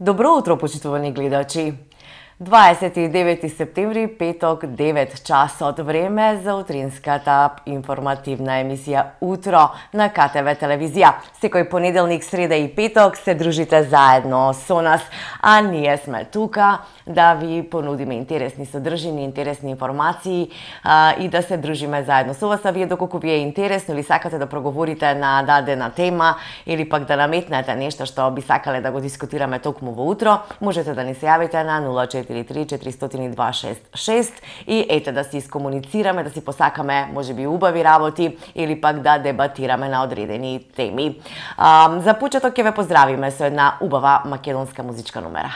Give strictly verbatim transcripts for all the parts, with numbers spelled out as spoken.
Добро утро, почитувани гледачи! дваесет и девети септември, петок, девет часот, време за утринската информативна емисија Утро на К Т В телевизија. Секој понеделник, среда и петок се дружите заедно со нас, а ние сме тука да ви понудиме интересни содржини, интересни информации а, и да се дружиме заедно со вас. А вие, доколку ви е интересно или сакате да проговорите на дадена тема или пак да наметнете нешто што би сакале да го дискутираме токму во утро, можете да ни се јавите на нула четири три четири два шест шест и ете да си искомуницираме, да си посакаме можеби убави работи или пак да дебатираме на одредени теми. А, за почеток ќе ве поздравиме со една убава македонска музичка номера.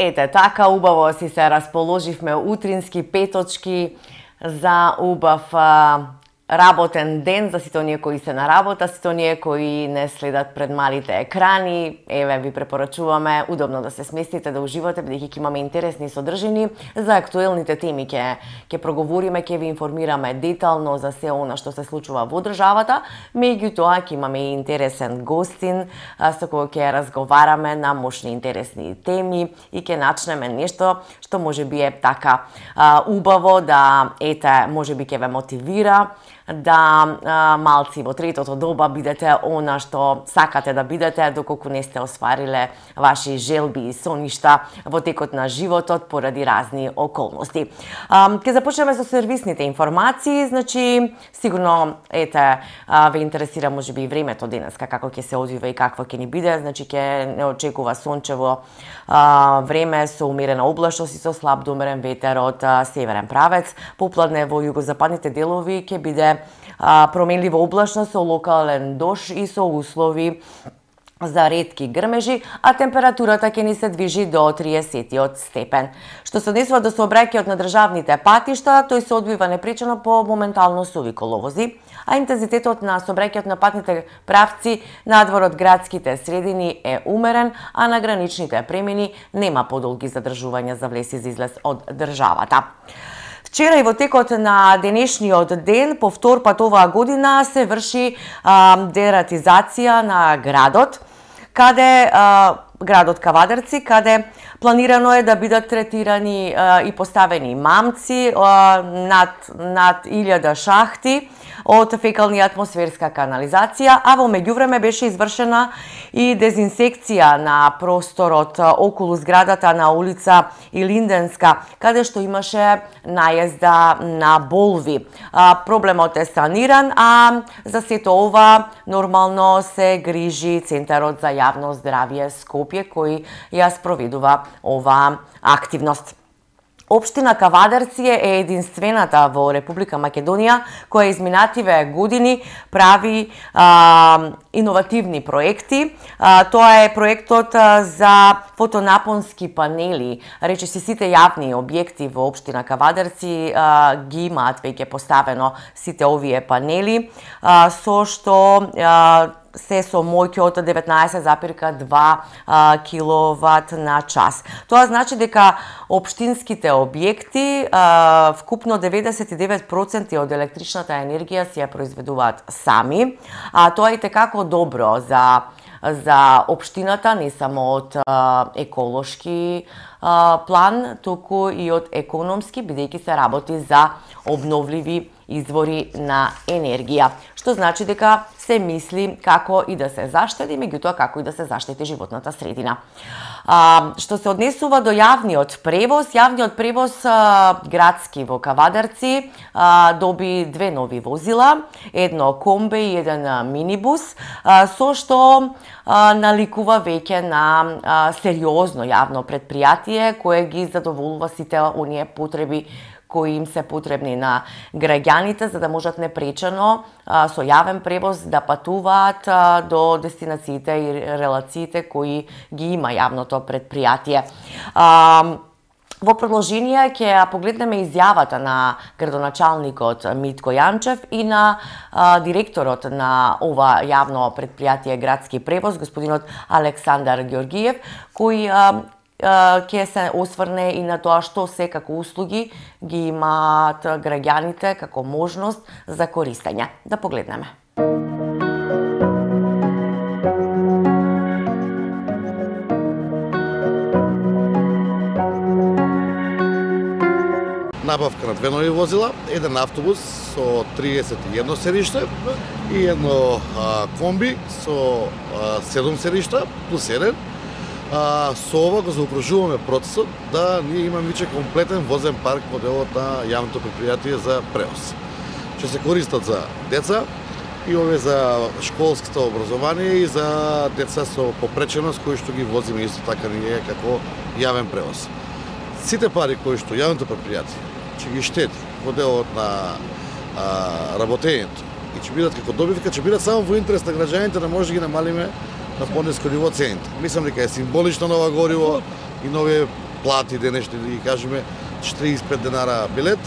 Ете, така убаво си се расположивме утрински петочки за убав а, работен ден за сите оние кои се на работа, сите оние кои не следат пред малите екрани. Еве ви препорачуваме удобно да се сместите, да уживате, бидејќи ќе имаме интересни содржини за актуелните теми. Ќе ќе проговориме, ќе ви информираме детално за се она што се случува во државата, меѓутоа ќе имаме и интересен гостин со кој ќе разговараме на мощни интересни теми и ќе начнеме нешто што можеби е така а, убаво да ете можеби ќе ве мотивира да а, малци во третото доба бидете она што сакате да бидете, доколку не сте оствариле ваши желби и соништа во текот на животот поради разни околности. А, ке започнеме со сервисните информации, значи сигурно ете а, ве интересира можеби и времето денеска, како ќе се одвива и какво ќе ни биде, значи ќе не очекува сончево а, време со умерена облачност и со слаб до умерен ветер од а, северен правец. Попладне во југозападните делови ќе биде а, променлива облачност со локален дош и со услови за ретки грмежи, а температурата ќе ни се движи до триесет степен. Што се однесува до сообраќајот на државните патишта, тој се одвива непречено по моментално суви коловози, а интензитетот на сообраќајот на патните правци надвор од градските средини е умерен, а на граничните премини нема подолги задржувања за влез и за излез од државата. Вчера и во текот на денешниот ден, по втор пат оваа година, се врши а, дератизација на градот, каде а, градот Кавадарци, каде планирано е да бидат третирани а, и поставени мамци а, над, над илјада шахти од фекална и атмосферска канализација, а во меѓувреме беше извршена и дезинсекција на просторот околу зградата на улица Илинденска, каде што имаше најезда на болви. А, проблемот е саниран, а за сето ова нормално се грижи Центарот за јавно здравје Скопје, кој ја спроведува оваа активност. Општина Кавадарци е единствената во Република Македонија која изминативе години прави а, иновативни проекти. А, тоа е проектот а, за фотонапонски панели. Речиси сите јавни објекти во општина Кавадарци а, ги имаат веќе поставено сите овие панели, а, со што а, се со моќ од деветнаесет запирка два киловат на час. Тоа значи дека општинските објекти а, вкупно деветдесет и девет проценти од електричната енергија си ја произведуваат сами, а тоа е итекако добро за за општината, не само од а, еколошки а, план, туку и од економски, бидејќи се работи за обновливи извори на енергија, што значи дека се мисли како и да се заштеди, меѓутоа како и да се заштити животната средина. А, што се однесува до јавниот превоз, јавниот превоз а, градски во Кавадарци а, доби две нови возила, едно комбе и еден а, минибус, а, со што а, наликува веќе на а, сериозно јавно предпријатие кое ги задоволува сите оние потреби кои им се потребни на граѓаните, за да можат непречено а, со јавен превоз да патуваат а, до дестинациите и релациите кои ги има јавното предпријатие. А, Во продолжение ќе погледнеме изјавата на градоначалникот Митко Јанчев и на а, директорот на ова јавно предпријатие Градски превоз, господинот Александар Ѓоргиев, кој а, ќе се осврне и на тоа што се како услуги ги имаат граѓаните како можност за користење. Да погледнеме. Набавка на две нови возила, еден автобус со триесет и едно седиште и едно а, комби со а, седум седишта плюс еден. А, со ова го заокружуваме процесот да ние имаме веќе комплетен возен парк во делот на јавното предпријатие за превоз. Ќе се користат за деца и овие за школското образование и за деца со попреченост кои што ги возиме исто така ние како јавен превоз. Сите пари кои што јавното предпријатие ќе ги штеди во делот на а, работењето и ќе бидат како добивка, ќе бидат само во интерес на граѓаните, да може да ги намалиме на пониско ниво цените. Мислам дека е символично на ова гориво и нови плати денешни, да ги кажеме четириесет и пет денара билет,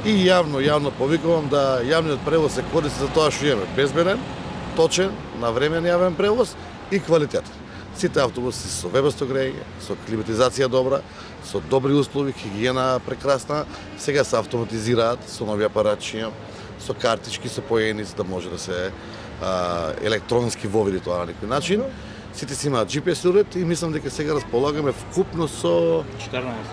и јавно, јавно повикувам да јавниот превоз се користи за тоа што имаме безбеден, точен, навремен јавен превоз и квалитетен. Сите автобуси со вебесто грејење, со климатизација добра, со добри услови, хигиена прекрасна, сега се автоматизираат со нови апаратчиња, со картички, со поени, за да може да се а, електронски воведи тоа на некој начин. Сите си имаат Джи Пи Ес уред и мислам дека сега располагаме вкупно со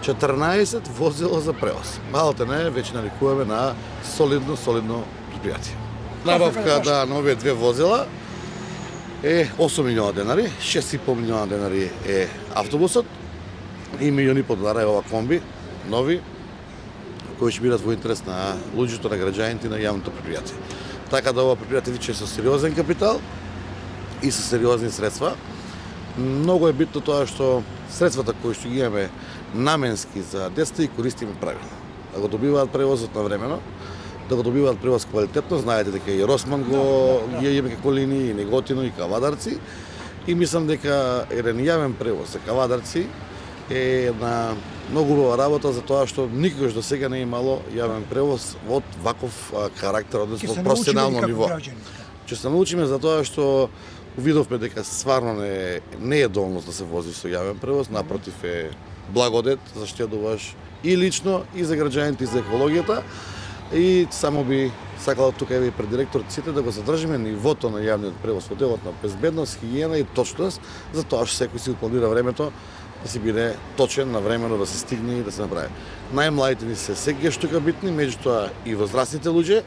четрнаесет возила за превоз. Малте не, веќе наликуваме на солидно, солидно предпријатие. Набавка да на овие две возила е осум милиони денари, шест и пол милиона денари е автобусот и милион и пол денари е ова комби, нови, кои ќе бидат во интерес на луѓето, на граѓаните и на јавното предпријатие. Така да ова предпријатие више со сериозен капитал и со сериозни средства. Многу е битно тоа што средствата кои што ги имаме наменски за децата и користиме правилно. Да го добиваат превозот навремено, да го добиваат превоз квалитетно, знаете дека и Росман го ги имаме како линии, и Неготино, и Кавадарци, и мислам дека еден јавен превоз за Кавадарци е една многу убава работа за тоа што никогаш до сега не е имало јавен превоз од ваков карактер, односно професионално ниво. Ќе се научиме за тоа што увидовме дека стварно не, не е долност да се вози со јавен превоз, напротив е благодет, заштедуваш и лично, и за граѓаните, и за екологијата. И само би сакала тука и пред директорот сите да го задржиме нивото на јавниот превоз во делот на безбедност, хигиена и точност, за тоа што секој си планира времето да си биде точен, навремено да се стигне и да се направи. Најмладите ни се секогаш тука битни, меѓутоа и возрастните луѓе.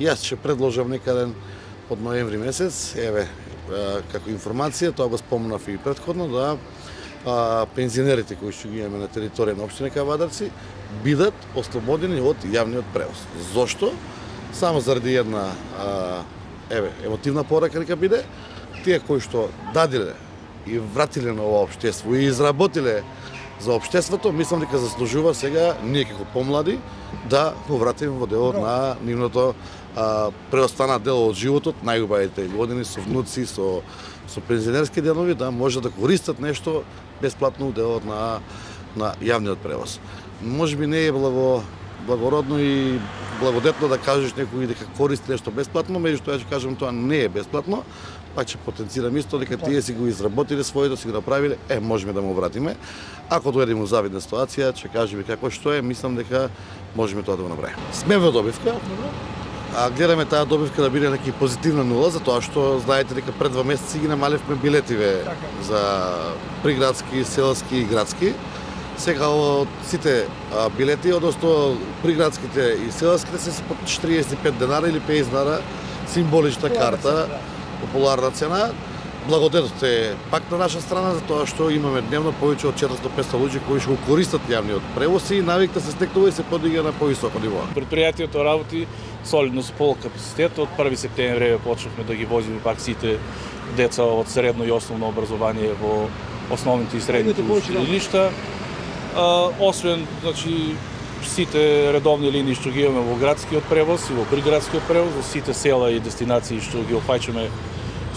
Јас ќе предложам некаден од ноември месец, еве, како информација, тоа го спомнав и претходно, да а, пензионерите кои што ги имаме на територија на општина Кавадарци бидат ослободени од јавниот превоз. Зошто? Само заради една а, еве, емотивна порака нека биде, тие кои што дадиле и вратиле на ова општество и изработиле за општеството, мислам дека заслужува сега ние како помлади да го вратиме во делот на нивното а, преостанат дел од животот, најубавите години со внуци, со со пензионерски денови, да може да користат нешто бесплатно во делот на на јавниот превоз. Може би не е благо благородно и благодетно да кажеш некој дека користи нешто бесплатно, меѓутоа ќе кажам тоа не е бесплатно, пак ќе потенцирам исто дека тие си го изработиле своето, си го направиле, е можеме да му вратиме. Ако дојдеме во завидна ситуација, ќе кажеме како што е, мислам дека можеме тоа да го направиме. Сме во добивка. А гледаме таа добивка да биде неки позитивна нула, затоа што знаете дека пред два месеци ги намалевме билетиве за приградски, селски и градски. Сега од сите а, билети, односно приградските и селските се по четириесет и пет денара или петдесет денара, символична карта, популарна цена. Благодетот е пак на наша страна, затоа што имаме дневно повеќе од четиристотини до петстотини луѓе кои што го користат јавниот превоз и навикта се стекнува и се подига на повисоко ниво. Предпријатието работи солидно со пол капацитет. Од први септември почнавме да ги возиме пак сите деца од средно и основно образование во основните и средните училишта. Освен, значи, сите редовни линии што ги имаме во градскиот превоз и во приградскиот превоз, во сите села и дестинации што ги опфаќаме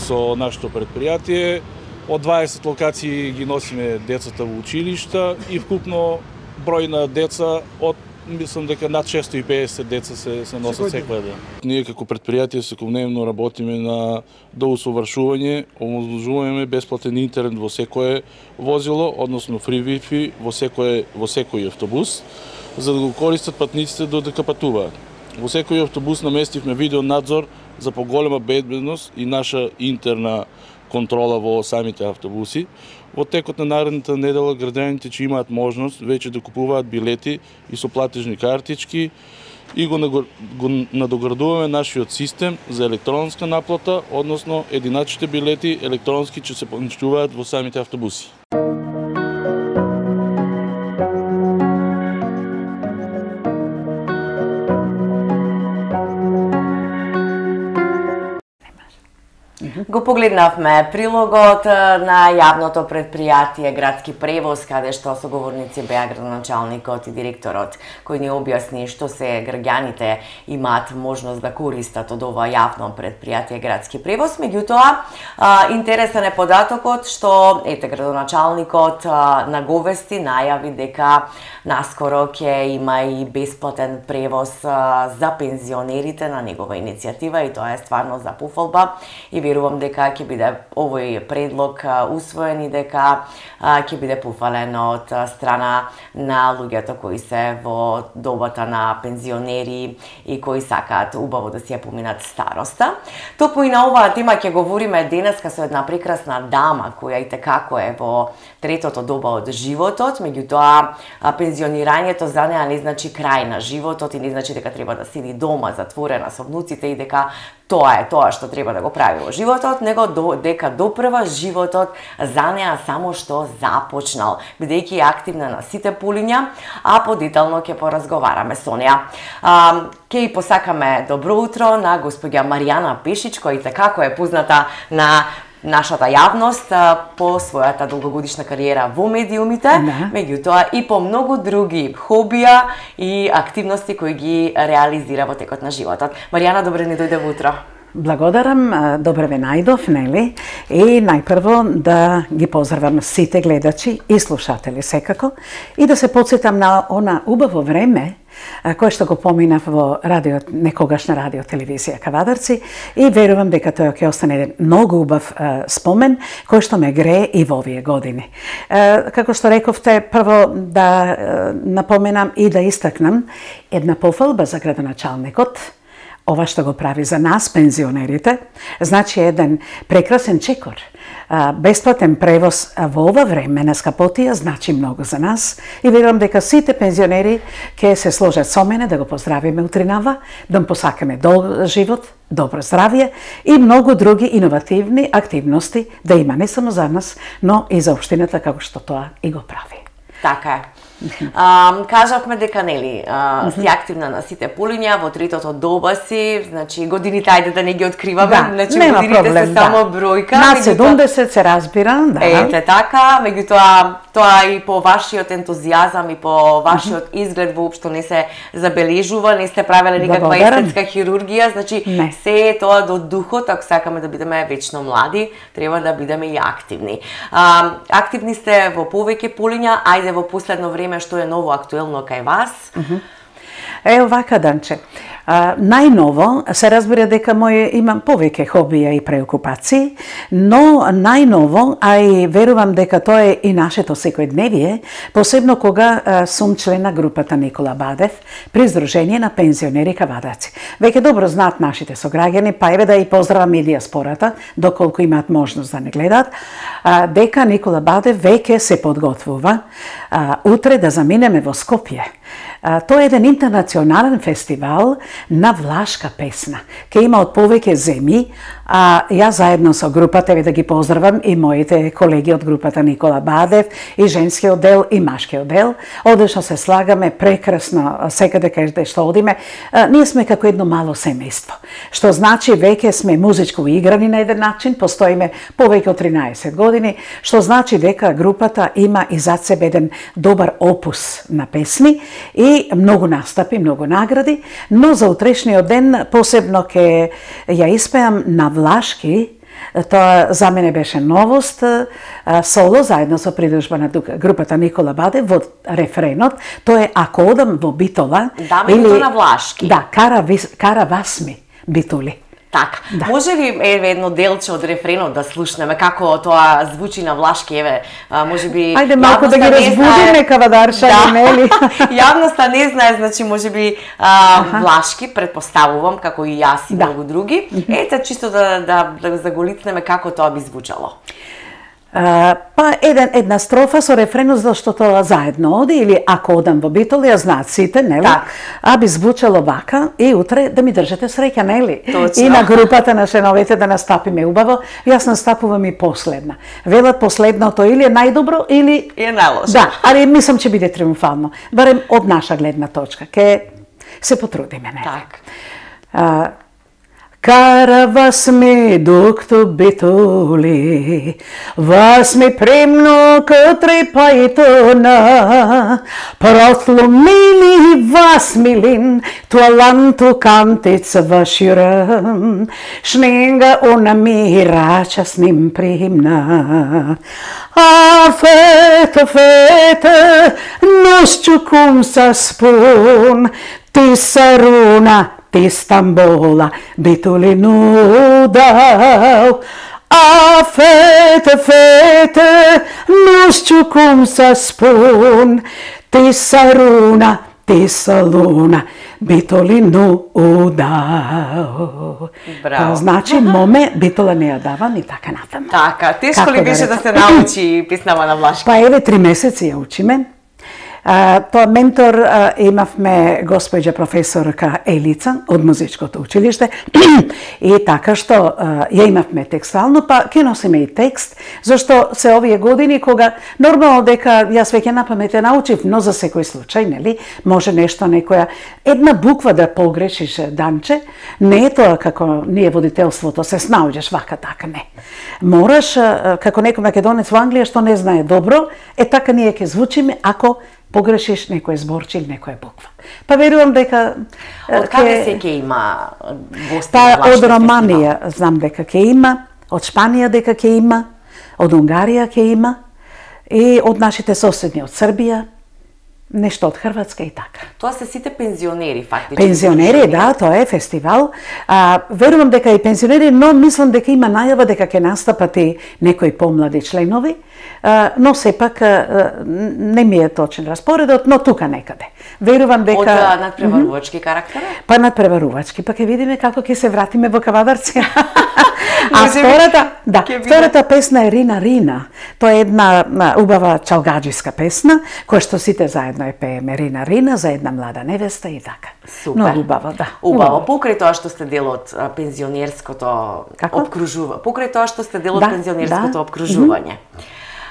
со нашето предпријатие. Од дваесет локации ги носиме децата во училишта и вкупно број на деца од мислам дека над шестоста и педесет деца се се носат секоја ден. Ние како предпријатие секојдневно работиме на доусовршување, оможуваме бесплатен интернет во секое возило, односно фри Wi-Fi во секој во секој автобус, за да го користат патниците додека патуваат. Во секој автобус наместивме видео надзор за поголема безбедност и наша интерна контрола во самите автобуси. Во текот на наредната недела граѓаните ќе имаат можност веќе да купуваат билети и со платежни картички и го, го надоградуваме нашиот систем за електронска наплата, односно единачните билети електронски ќе се поничуваат во самите автобуси. Го погледнавме прилогот на јавното предпријатие Градски превоз, каде што соговорници беа градоначалникот и директорот, кој ни објасни што се граѓаните имаат можност да користат од ова јавно предпријатие Градски превоз. Меѓутоа, интересен е податокот што ете градоначалникот наговести, најави дека наскоро ќе има и бесплатен превоз за пензионерите на негова иницијатива и тоа е стварно за пофалба и верувам дека ќе биде овој предлог усвоен и дека ќе биде пофален од страна на луѓето кои се во добата на пензионери и кои сакаат убаво да си ја поминат староста. Токму и на оваа тема ќе говориме денеска со една прекрасна дама која и tekako е во третото доба од животот, меѓутоа пензионирањето за неа не значи крај на животот и не значи дека треба да седи дома затворена со внуците и дека тоа е тоа што треба да го прави во животот, него до, дека допрва животот за неа само што започнал, бидејќи е активна на сите полиња, а подетално ќе поразговараме со неа. А, ке и посакаме добро утро на госпоѓа Маријана Пешич, која и како е позната на нашата јавност по својата долгогодишна кариера во медиумите, да. Меѓутоа и по многу други хобија и активности кои ги реализира во текот на животот. Маријана, добре ни дојде во утро. Благодарам, добре ве најдов, нели? И најпрво да ги поздравам сите гледачи и слушатели секако и да се потсетам на она убаво време кој што го поминав во радио, некогашна радио телевизија Кавадарци, и верувам дека тоа ќе остане еден многу убав е, спомен кој што ме грее и во овие години. Е, како што рековте, прво да е, напоменам и да истакнам една пофалба за градоначалникот. Ова што го прави за нас, пензионерите, значи еден прекрасен чекор. Бесплатен превоз во ова време на Скапотија значи многу за нас и верувам дека сите пензионери ќе се сложат со мене да го поздравиме утринава, да му посакаме долг живот, добро здравје и многу други иновативни активности да има не само за нас, но и за општината како што тоа и го прави. Така е. А, кажавме дека нели а, си активна на сите полиња во третото доба си, значи годините ајде да не ги откриваме, да, значи нема годините проблем, се да. само бројка. На седумдесет се разбира, да. Ете така, меѓутоа тоа и по вашиот ентузијазам и по вашиот изглед воопшто не се забележува, не сте правеле никаква естетска хирургија, значи не. Се е тоа до духот, ако сакаме да бидеме вечно млади, треба да бидеме и активни. А, активни сте во повеќе полиња, ајде во последно време што е ново актуелно кај вас? Е, овака, Данче. А, најново се разбира дека мој имам повеќе хобија и преокупации, но најново, а и верувам дека тоа е и нашето секојдневие, посебно кога а, сум член на групата Никола Бадев при Сдружение на пензионери Кавадаци. Веќе добро знаат нашите сограѓани, па еве да и поздравам и диаспората, доколку имаат можност да не гледаат, а, дека Никола Бадев веќе се подготвува а, утре да заминеме во Скопје. А, тоа е еден интернационален фестивал на влашка песна. Ке има од повеќе земји, а јас заедно со групата, еве да ги поздравам и моите колеги од групата Никола Бадев, и женскиот дел и машкиот дел. Одлично се слагаме, прекрасно, секаде каде што одиме. А, ние сме како едно мало семејство, што значи веќе сме музичко играни на еден начин, постоиме повеќе од тринаесет години, што значи дека групата има и зад себе еден добар опус на песни и многу настапи, многу награди, но за утрешниот ден посебно ке ја испеам на влашки. Тоа за мене беше новост, соло заедно со придружба на групата Никола Бадев во рефренот. Тоа е Ако одам во Битола. Даме или на влашки. Да, кара, кара Васми Битули. Така. Да. Може ли еве едно делче од рефренот да слушнеме како тоа звучи на влашки, еве, можеби ајде малку да ги разбудиме кавадаршани, да. Нели? Јавноста не знае, значи можеби а, влашки, предпоставувам како и јас и да. Многу други. Ете чисто да да да заголицнеме како тоа би звучало. Uh, па еден, една строфа со рефренот зашто тоа заедно оди, или Ако одам во Битоли, ја знаат сите, нели? Так. А би звучало вака и утре да ми држите среќа, нели? Точно. И на групата на шеновете да настапиме убаво. Јас настапувам и последна. Велат последното или е најдобро или е најлошо. Да, али мислам че биде триумфално. Барем од наша гледна точка. Ке се потрудиме, нели? Так. Uh, Кара Васми доктор Битули, Васми премно катре пајтона, просломили Васмилин, туаланто кантица ваширам, шненга она мирача с ним примна. А фета, фета, нос чукум са спун, ти саруна, ти Стамбола, Битули нудау. А фете, фете, нос чукум са спун, ти саруна, ти салуна, Битули нудау. Браво. Значи, моме, Битула не ја дава ни така натаму. Така, тешко ли беше да се научи песнава на влашки? Па еве, три месеци ја учиме. Тоа ментор имавме госпоѓа професорка Елица од музичкото училиште и така што ја имавме текстуално, па ќе носиме и текст, зашто се овие години кога нормално дека јас веќе на памет ја научив, но за секој случај, нели, може нешто некоја една буква да погрешиш, Данче, не е тоа како ние водителството се снаоѓаш вака така, не. Мораш како некој македонец во Англија што не знае добро, е така ние ќе звучиме ако погрешиш некој зборче или некоја буква. Па верувам дека од каде се ќе има гости? Па од Романија знам дека ќе има, од Шпанија дека ќе има, од Унгарија ќе има и од нашите соседни од Србија, нешто од Хрватска и така. Тоа се сите пензионери фактички. Пензионери, да, тоа е фестивал. А, верувам дека и пензионери, но мислам дека има најава дека ќе настапат и некои помлади членови, а, но сепак а, не ми е точен распоредот, но тука некаде. Верувам дека од надпреварувачки карактер? Па надпреварувачки, па ќе видиме како ќе се вратиме во Кавадарци. А втората, да, втората песна е Рина Рина. Тоа е една убава чалгаџиска песна, која што сите заедно е пееме Рина Рина за една млада невеста и така. Супер. Много убаво, да. Убаво. Покрај тоа што сте дел од пензионерското обкружување. Покрај тоа што сте дел од да, пензионерското да. обкружување.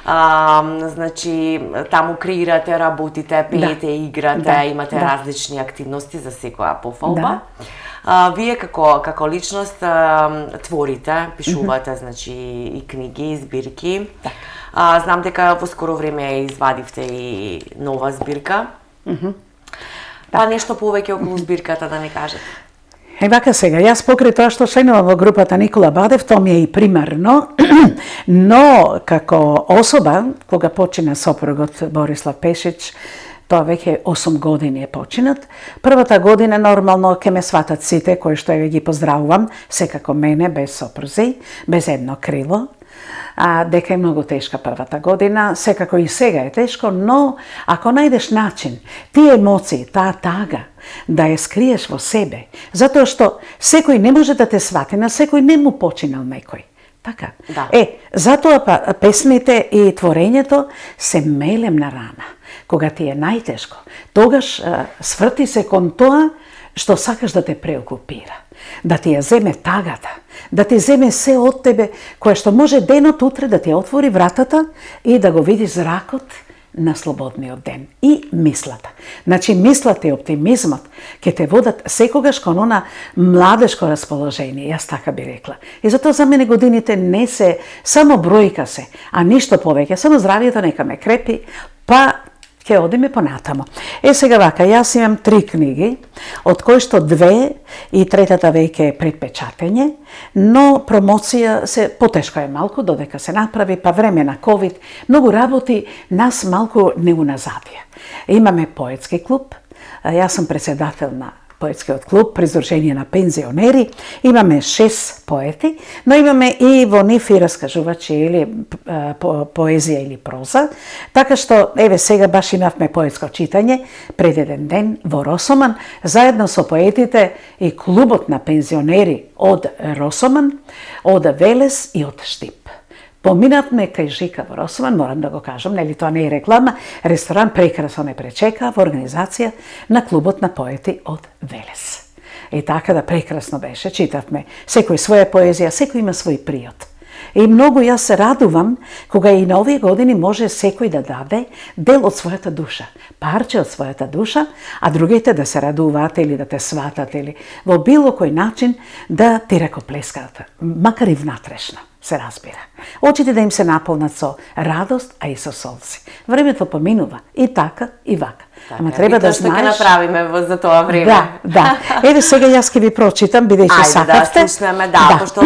А, значи, таму креирате, работите, пеете, да. играте, да. имате да. различни активности за секоја пофалба. Да. А, вие како како личност а, творите, пишувате, mm -hmm. значи и книги, и збирки. Да. А, знам дека во скоро време извадивте и нова збирка. Mm -hmm. Па да. нешто повеќе околу збирката да не кажете. Е, вака сега, јас покрај тоа што членувам во групата Никола Бадев, тоа ми е и примарно, но како особа, кога почина сопругот Борислав Пешич, тоа веќе осум години е починат. Првата година нормално ќе ме сватат сите, кои што ја ги поздравувам, секако мене, без сопрузи, без едно крило. А, дека е многу тешка првата година, секако и сега е тешко, но ако најдеш начин, тие емоции, таа тага, да ја скриеш во себе, затоа што секој не може да те свати, на секој не му починал некој. Така. Да. Е, затоа па песмите и творењето се мелемна рана. Кога ти е најтешко, тогаш а, сврти се кон тоа што сакаш да те преокупира, да ти ја земе тагата, да ти земе се од тебе, кое што може денот утре да ти отвори вратата и да го видиш зракот на слободниот ден. И мислата. Значи, мислата и оптимизмот ќе те водат секогаш кон она младешко расположение, јас така би рекла. И затоа за мене годините не се само бројка се, а ништо повеќе, само здравието нека ме крепи, па ќе одиме понатамо. Е, сега вака, јас имам три книги, од кои што две и третата веќе е предпечатење, но промоција се потешко е малку, додека се направи, па време на ковид, многу работи нас малку не уназадија. Имаме поетски клуб, јас сум председател на поетскиот клуб при Сдружение на пензионери, имаме шест поети, но имаме и во нив и раскажувачи или по, поезија или проза, така што, еве сега баш имавме поетско читање пред еден ден во Росоман, заедно со поетите и клубот на пензионери од Росоман, од Велес и од Штип. Поминавме кај Жика во Росоман, морам да го кажам, нели тоа не е реклама, ресторан прекрасно не пречека во организација на клубот на поети од Велес. И така да прекрасно беше, читавме секој своја поезија, секој има свој приот. И многу јас се радувам кога и на овие години може секој да даде дел од својата душа, парче од својата душа, а другите да се радуваат или да те сватат или во било кој начин да ти ракоплескаат, макар и внатрешно. Се разбира. Очите да им се наполнат со радост, а и со солзи. Времето поминува и така и вака. Така, ама треба да знаеш. Тоа што ќе направиме за тоа време. Да, да. Еве сега јас ќе ви прочитам, бидејќи сакавте. Ајде да слушнеме, да, да. Пошто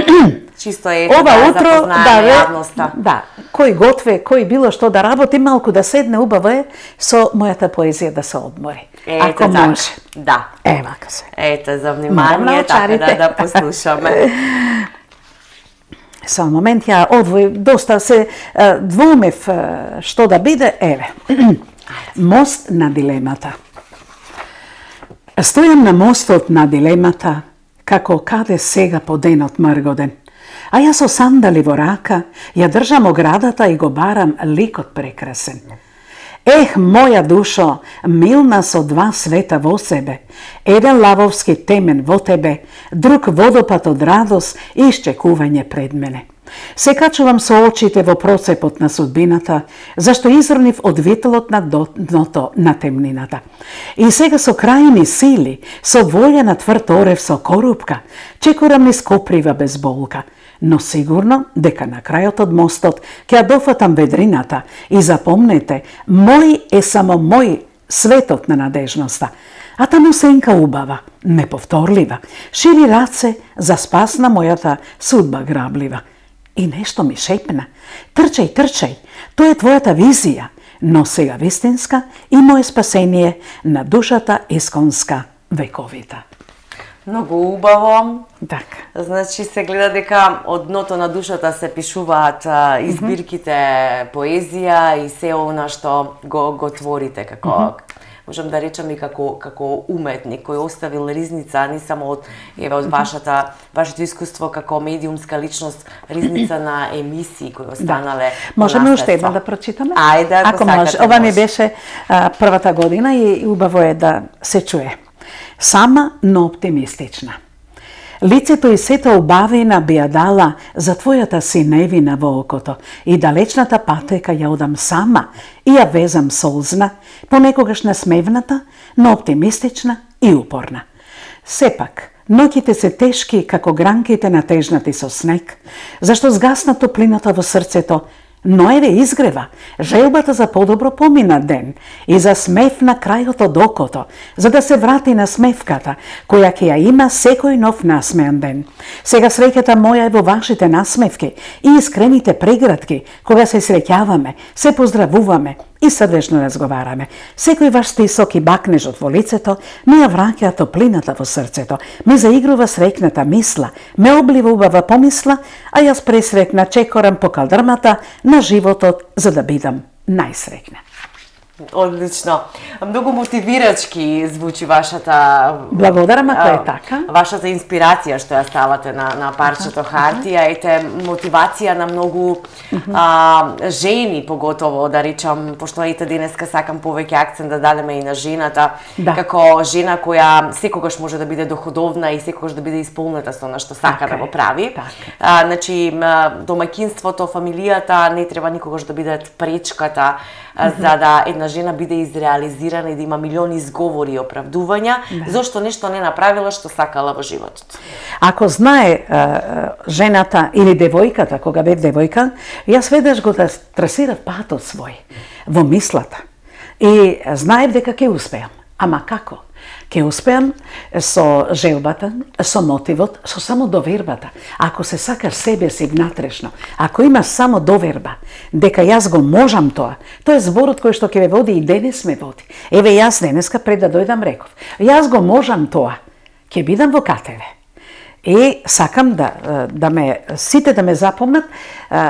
чисто е ова да утро, да, јавноста. Да, кој готве, кој било што да работи, малку да седне, убаво е со мојата поезија да се одмори. Ете, ако так. може. Да. Е, вака се. Ете, за внимание, така да, да послушаме. Само момент, ја одвој, доста се двумев што да биде, еве. Мост на дилемата. Стојам на мостот на дилемата, како каде сега по денот мргоден. А јас со сандали во рака, ја држам оградата и го барам ликот прекрасен. Ех, моја душо, милна со два света во себе, еден лавовски темен во тебе, друг водопад од радост и исчекување пред мене. Се качувам со очите во процепот на судбината, зашто изрнив од вителот на дното на темнината. И сега со крајни сили, со волја на тврд орев со корупка, чекорам низ коприва без болка. Но сигурно дека на крајот од мостот ќе ја дофатам ведрината и запомнете, мој е само мој светот на надежноста. А таму сенка убава, неповторлива, шири раце за спас на мојата судба граблива. И нешто ми шепна, трчај, трчај, тоа е твојата визија, но сега вистинска и моје спасение на душата исконска вековита. Многу убаво. Така. Значи се гледа дека од дното на душата се пишуваат а, избирките поезија и се она што го, го творите како mm -hmm. можам да речам и како како уметник кој оставил ризница не само од еве од вашата вашето искуство како медиумска личност, ризница на емисии кои останале. Да. Можеме уште една да прочитаме? Ајде, ако, ако може. Ова ми беше а, првата година и убаво е да се чуе. Сама, но оптимистична. Лицето и сета убавина би ја дала за твојата синевина во окото и далечната патека ја одам сама и ја везам солзна, понекогаш насмевната, но оптимистична и упорна. Сепак, ноќите се тешки како гранките натежнати со снег, зашто згасна топлината во срцето, но еве изгрева, желбата за подобро помина ден и за смев на крајот од окото, за да се врати на смевката, која ќе ја има секој нов насмеан ден. Сега среќата моја е во вашите насмевки и искрените прегратки, кога се среќаваме, се поздравуваме и срдечно разговараме. Секој ваш стисок и бакнежот во лицето ми ја враќа топлината во срцето, ми заигрува срекната мисла, ме облива убава помисла, а јас пресрекна чекорам по калдрмата на животот за да бидам најсрекна. Одлично. Многу мотивирачки звучи вашата... Благодарам ако е така. Вашата инспирација што ја ставате на, на парчето хартија, ете мотивација на многу а, жени, поготово, да речам, пошто ете денеска сакам повеќе акцент да дадеме и на жената, да. Како жена која секогаш може да биде доходовна и секогаш да биде исполнета со она што сака така да го прави. Така. А, значи, домаќинството, фамилијата не треба никогаш да бидат пречката mm-hmm. за да една жена биде изреализирана и да има милиони изговори и оправдувања, да. Зошто нешто не направила што сакала во животот. Ако знае е, жената или девојката, кога бев девојка, јас веднаш го трасирав патот свој во мислата. И знаев дека ќе успеам. Ама како? Ќе успеам со желбата, со мотивот, со само довербата. Ако се сакаш себе си внатрешно, ако имаш само доверба, дека јас го можам тоа, тоа е зборот кој што ќе ве води и денес ме води. Еве јас денеска пред да дојдам реков, јас го можам тоа, ќе бидам во КТВ. И сакам да, да ме, сите да ме запомнат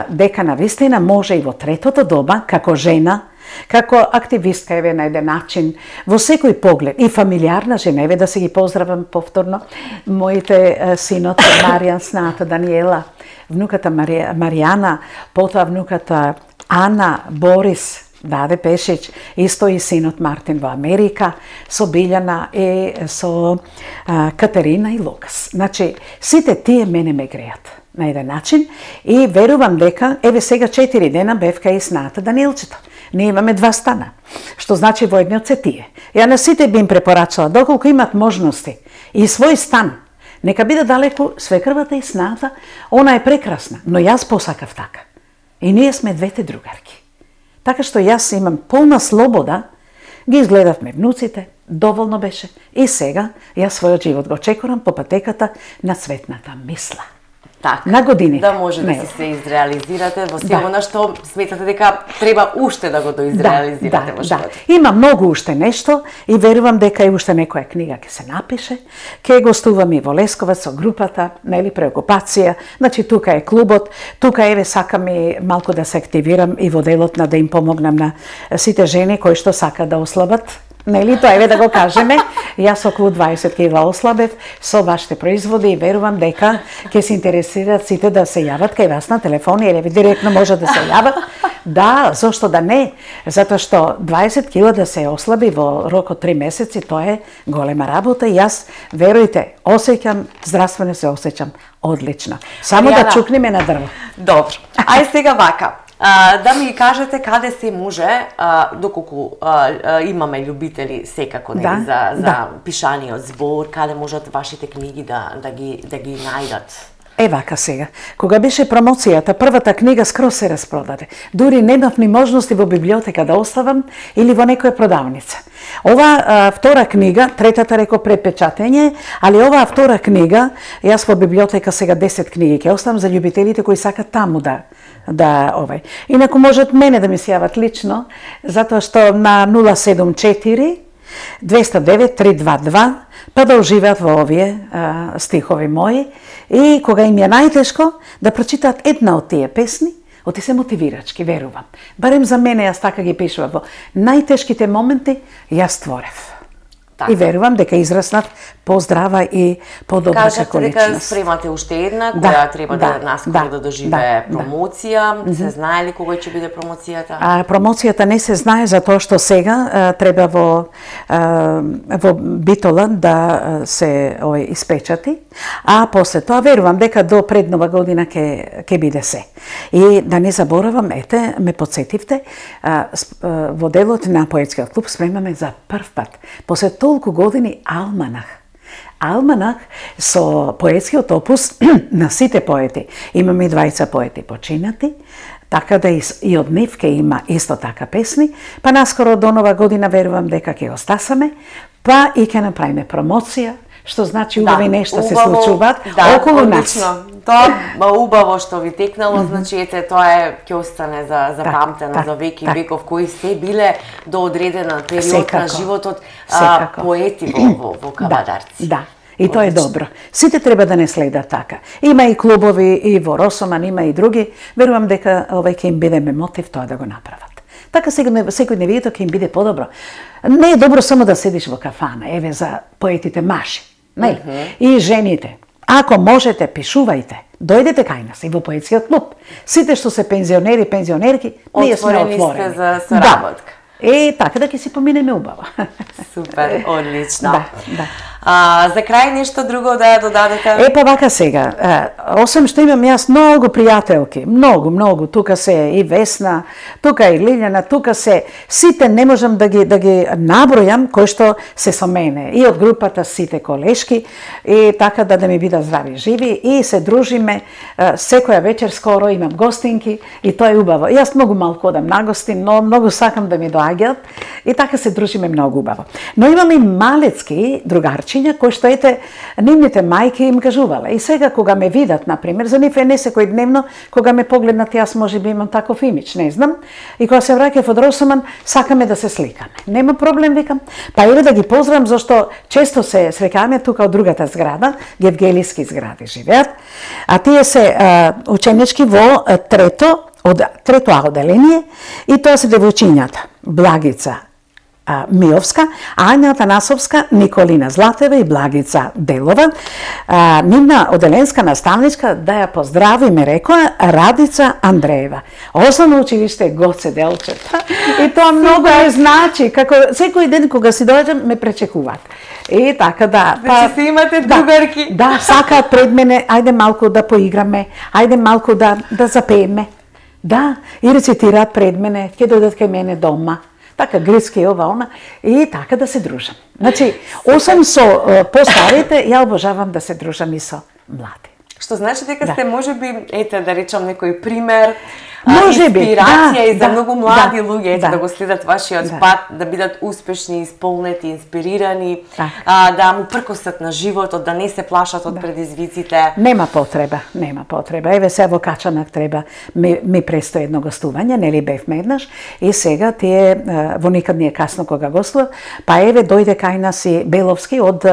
дека навистина може и во третото доба, како жена, како активистка, еве на еден начин, во секој поглед, и фамилиарна жена, еве да се ги поздравам повторно, моите синот Маријан, сната Даниела, внуката Марија, Маријана, потоа внуката Ана, Борис, Даде Пешич, исто и синот Мартин во Америка, со Билјана и со а, Катерина и Лукас. Значи, сите тие мене ме греат на еден начин и верувам дека, еве сега четири дена бевка и сната Даниелчето. Ние имаме два стана, што значи во едниот се тие. Ја на сите би им препорачала, доколку имат можности и свој стан, нека биде далеку свекрвата и сната, она е прекрасна, но јас посакав така. И ние сме двете другарки. Така што јас имам полна слобода, ги изгледавме внуците, доволно беше, и сега јас својот живот го чекорам по патеката на цветната мисла. Така, на години. Да може да се изреализирате во се она што сметате дека треба уште да го доизреализирате да, во животот. Да. Има многу уште нешто и верувам дека и уште некоја книга ќе се напише. Ќе гостувам и во Лесковац со групата, нели, преокупација. Значи тука е клубот, тука еве сакам и малку да се активирам и во делот на да им помогнам на сите жени кои што сакаат да ослабат. Нели, тоа еве да го кажеме, јас околу дваесет кила ослабев со вашите производи и верувам дека ќе се интересираат сите да се јават кај вас на телефон или директно може да се јават Да, зошто да не? Затоа што дваесет кила да се ослаби во рок од три месеци, тоа е голема работа и јас, верујте, осеќам, здравствено се осеќам одлично. Само Маријана, да чукнеме на дрво. Добро. Ај сега вака. А, да ми кажете каде се може, а, доколку а, а, имаме љубители секако нели, Да, за, за да. пишаниот збор, каде можат вашите книги да, да, ги, да ги најдат? Е вака сега, кога беше промоцијата, првата книга скроз се распродаде. Дури немав ни можности во библиотека да оставам или во некоја продавница. Ова а, втора книга, третата реко препечатење, али оваа втора книга, јас во библиотека сега десет книги ќе оставам за љубителите кои сакат таму да да овај. Инаку можат мене да ми се јават лично, затоа што на нула седум четири двеста девет три два два па да уживаат во овие а, стихови мои и кога им е најтешко да прочитаат една од тие песни, оти се мотивирачки, верувам. Барем за мене, јас така ги пишувам, во најтешките моменти јас творев. Така. И верувам дека израснав поздрава и подобра како Кажете дека личност. спремате уште една, Да, која треба да, да, наскоро да, да доживее да, промоција. Да. Се знае ли кога ќе биде промоцијата? А, промоцијата не се знае затоа што сега а, треба во а, во Битола да а, се ој испечати, а после тоа верувам дека до пред нова година ќе ќе биде се. И да не заборавам, ете, ме подсетивте, а, а, во делот на поетскиот клуб спремаме за прв пат после толку години алманах. Алманах со поетскиот опус на сите поети. Имаме и двајца поети починати, така да и, и од нив ке има исто така песни, па наскоро до нова година верувам дека ќе го стасаме, па и ќе направиме промоција, што значи убави да, нешта се случуваат да, околу одлично. нас. Тоа убаво што ви текнало, значи ете тоа е ќе остане за за Так, памтено так, за веки и так. веков, кои се биле до одредена период Секако, на животот а, секако. поети во во, во Кавадарци. Да, да. И тоа е добро. Сите треба да не следат така. Има и клубови и во Росоман, има и други. Верувам дека овај ќе им биде мотив тоа да го направат. Така секој секој невието ќе им биде подобро. Не е добро само да седиш во кафана, еве за поетите маши, нели? Mm -hmm. И жените. Ако можете, пишувајте. Дојдете кај нас и во поетскиот клуб. Сите што се пензионери, пензионерки, ние сме отворени. Отворени сте за соработка. Да. Е, така да ќе си поминеме убаво. Супер, одлично. Да, да. А, за крај нешто друго да додадете? Е, па вака сега, е, осем што имам јас многу пријателки, многу, многу, тука се и Весна, тука и Лилјана, тука се, сите не можам да ги, да ги набројам кои што се со мене, и од групата сите колешки, и така да да ми бидат здрави и живи, и се дружиме, е, секоја вечер скоро имам гостинки, и тоа е убаво. Јас многу малку одам на гостин, но многу сакам да ми доаѓаат, и така се дружиме многу убаво. Но имам и малецки другарчиња, кои што ете, нивните мајки им кажувале. И сега кога ме видат, например, за нив е не секој дневно, кога ме погледнат, јас може би имам таков имидж, не знам. И кога се враќав од Росоман, сакаме да се сликаме. Нема проблем, викам. Па еве да ги поздравам, зашто често се срекаме тука од другата зграда, Гевгелиски згради живеат, а тие се а, ученички во а, трето, од трето А оделение, и тоа се девојчињата. Благица Миовска, Ања Танасовска, Николина Златева и Благица Делова. А, нивна оделенска наставничка, да ја поздрави, ме рекоа, Радица Андреева. Основно училиште Гоце Делчев. И тоа многу ме значи, како секој ден кога си доаѓам ме пречекуваат. И така да, па значи си имате другарки. Да, да, сакаат пред мене, ајде малку да поиграме, ајде малку да да запееме. Да, и рецитираат пред мене, ќе дојдат кај мене дома. Така грицки ова она и така да се дружам. Значи, осам со постарите, ја обожавам да се дружам и со млади. Што значи дека да. сте можеби, ете да речам некој пример, може би, инспирација да, и за да, многу млади да, луѓе, ете да, да го следат вашиот да. пат, да бидат успешни, исполнети, инспирирани, так. а, да му пркосат на животот, да не се плашат од да. предизвиците. Нема потреба, нема потреба. Еве се во Качанак треба, ми, ми престои едно гостување, нели бевме еднаш, и сега тие, во никад не е касно кога гостува, па еве дојде кај нас и Беловски од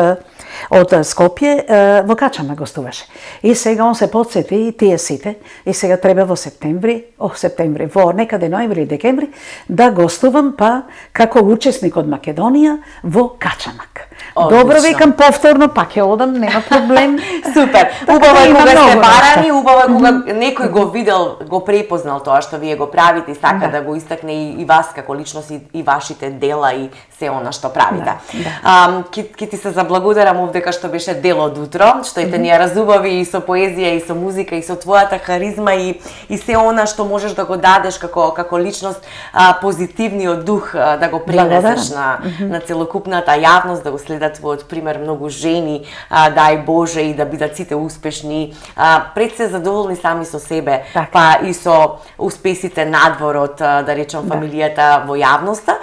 од Скопје, во Качанак гостуваше. И сега он се подсети и тие сите, и сега треба во септември, о, септември, во некаде ноември и декември, да гостувам па како учесник од Македонија во Качанак. Добро, викам повторно, пак ќе одам, нема проблем. Супер. Убаво е кога сте барани, убаво е кога некој го видел, го препознал тоа што вие го правите и сака да, да го истакне и, и вас како личност и, и вашите дела и се она што правите. Да, да. А, ки, ки ти се заблагодарам овдека што беше дел од утро, што и те ни ја разубави и со поезија и со музика и со твојата харизма и и се она што можеш да го дадеш како како личност, а, позитивниот дух а, да го пренесеш на на целокупната јавност, да го следат твојот пример многу жени, а, дај Боже, и да бидат сите успешни, а, пред се задоволни сами со себе, так, па и со успесите надвор од, да речам, фамилијата во јавноста,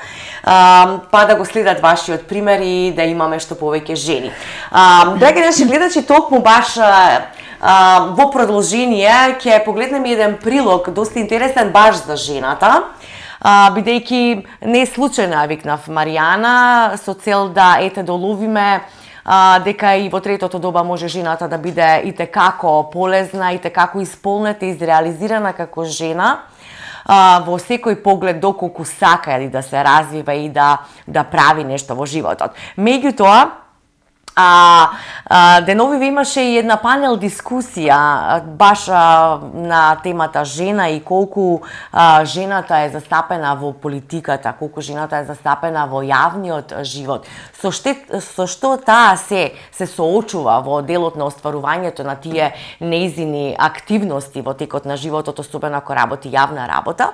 а, па да го следат вашиот пример и да имаме што повеќе жени. А, драги наши гледачи, токму баш а, а, во продолжение ќе погледнеме еден прилог доста интересен баш за жената. Uh, бидејќи не случајно ја викнав Маријана со цел да ете доловиме uh, дека и во третото доба може жената да биде и текако полезна, и текако исполнета и изреализирана како жена uh, во секој поглед, доколку сака или да се развива и да да прави нешто во животот. Меѓутоа, А, а, деновиве имаше и една панел дискусија баш а, на темата жена и колку а, жената е застапена во политиката, колку жената е застапена во јавниот живот. Со, ште, со што таа се се соочува во делот на остварувањето на тие неизини активности во текот на животот, особено ако работи јавна работа.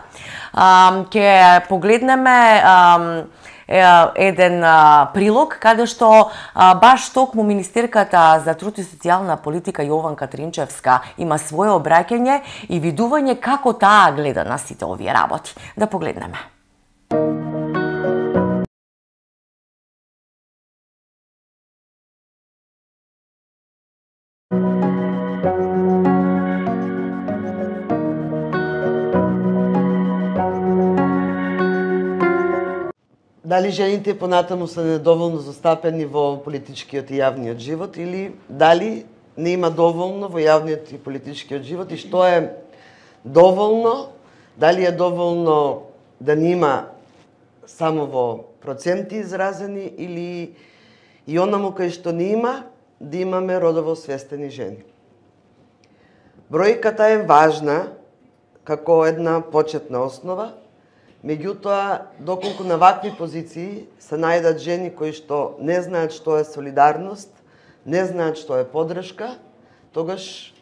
А, ке погледнеме а, еден а, прилог каде што а, баш токму министерката за труд и социјална политика Јованка Тринчевска има свое обраќање и видување како таа гледа на сите овие работи. Да погледнеме. Дали жените понатаму се недоволно застапени во политичкиот и јавниот живот или дали не има доволно во јавниот и политичкиот живот и што е доволно, дали е доволно да не има само во проценти изразени или и онаму кај што не има да имаме родово свестени жени. Бројката е важна како една почетна основа. Меѓутоа, доколку на вакви позиции се најдат жени кои што не знаат што е солидарност, не знаат што е подршка, тогаш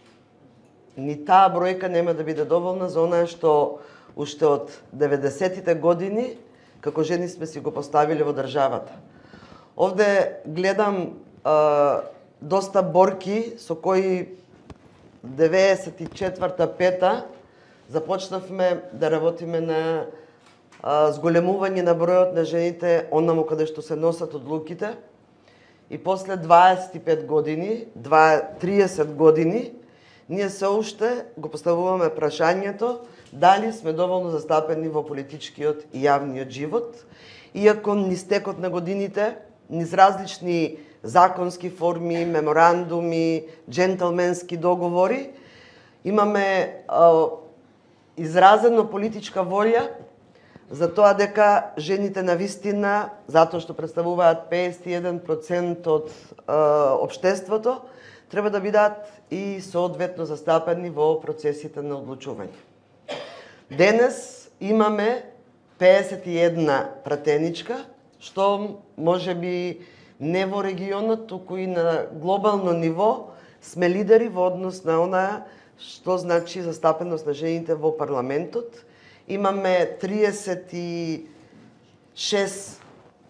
ни таа бројка нема да биде доволна за онаа што уште од деветдесетите години како жени сме си го поставиле во државата. Овде гледам а, доста борки со кои деветдесет и четврта пета започнавме да работиме на зголемување на бројот на жените онаму каде што се носат одлуките и после дваесет и пет години, триесет години, ние се уште го поставуваме прашањето дали сме доволно застапени во политичкиот и јавниот живот, иако низ текот на годините, низ различни законски форми, меморандуми, джентълменски договори, имаме а, изразено политичка волја за тоа дека жените на вистина, затоа што представуваат педесет и еден процент од е, општеството, треба да бидат и соодветно застапени во процесите на одлучување. Денес имаме педесет и една пратеничка, што може би не во регионот, туку и на глобално ниво сме лидери во однос на она што значи застапеност на жените во парламентот. Имаме триесет и шест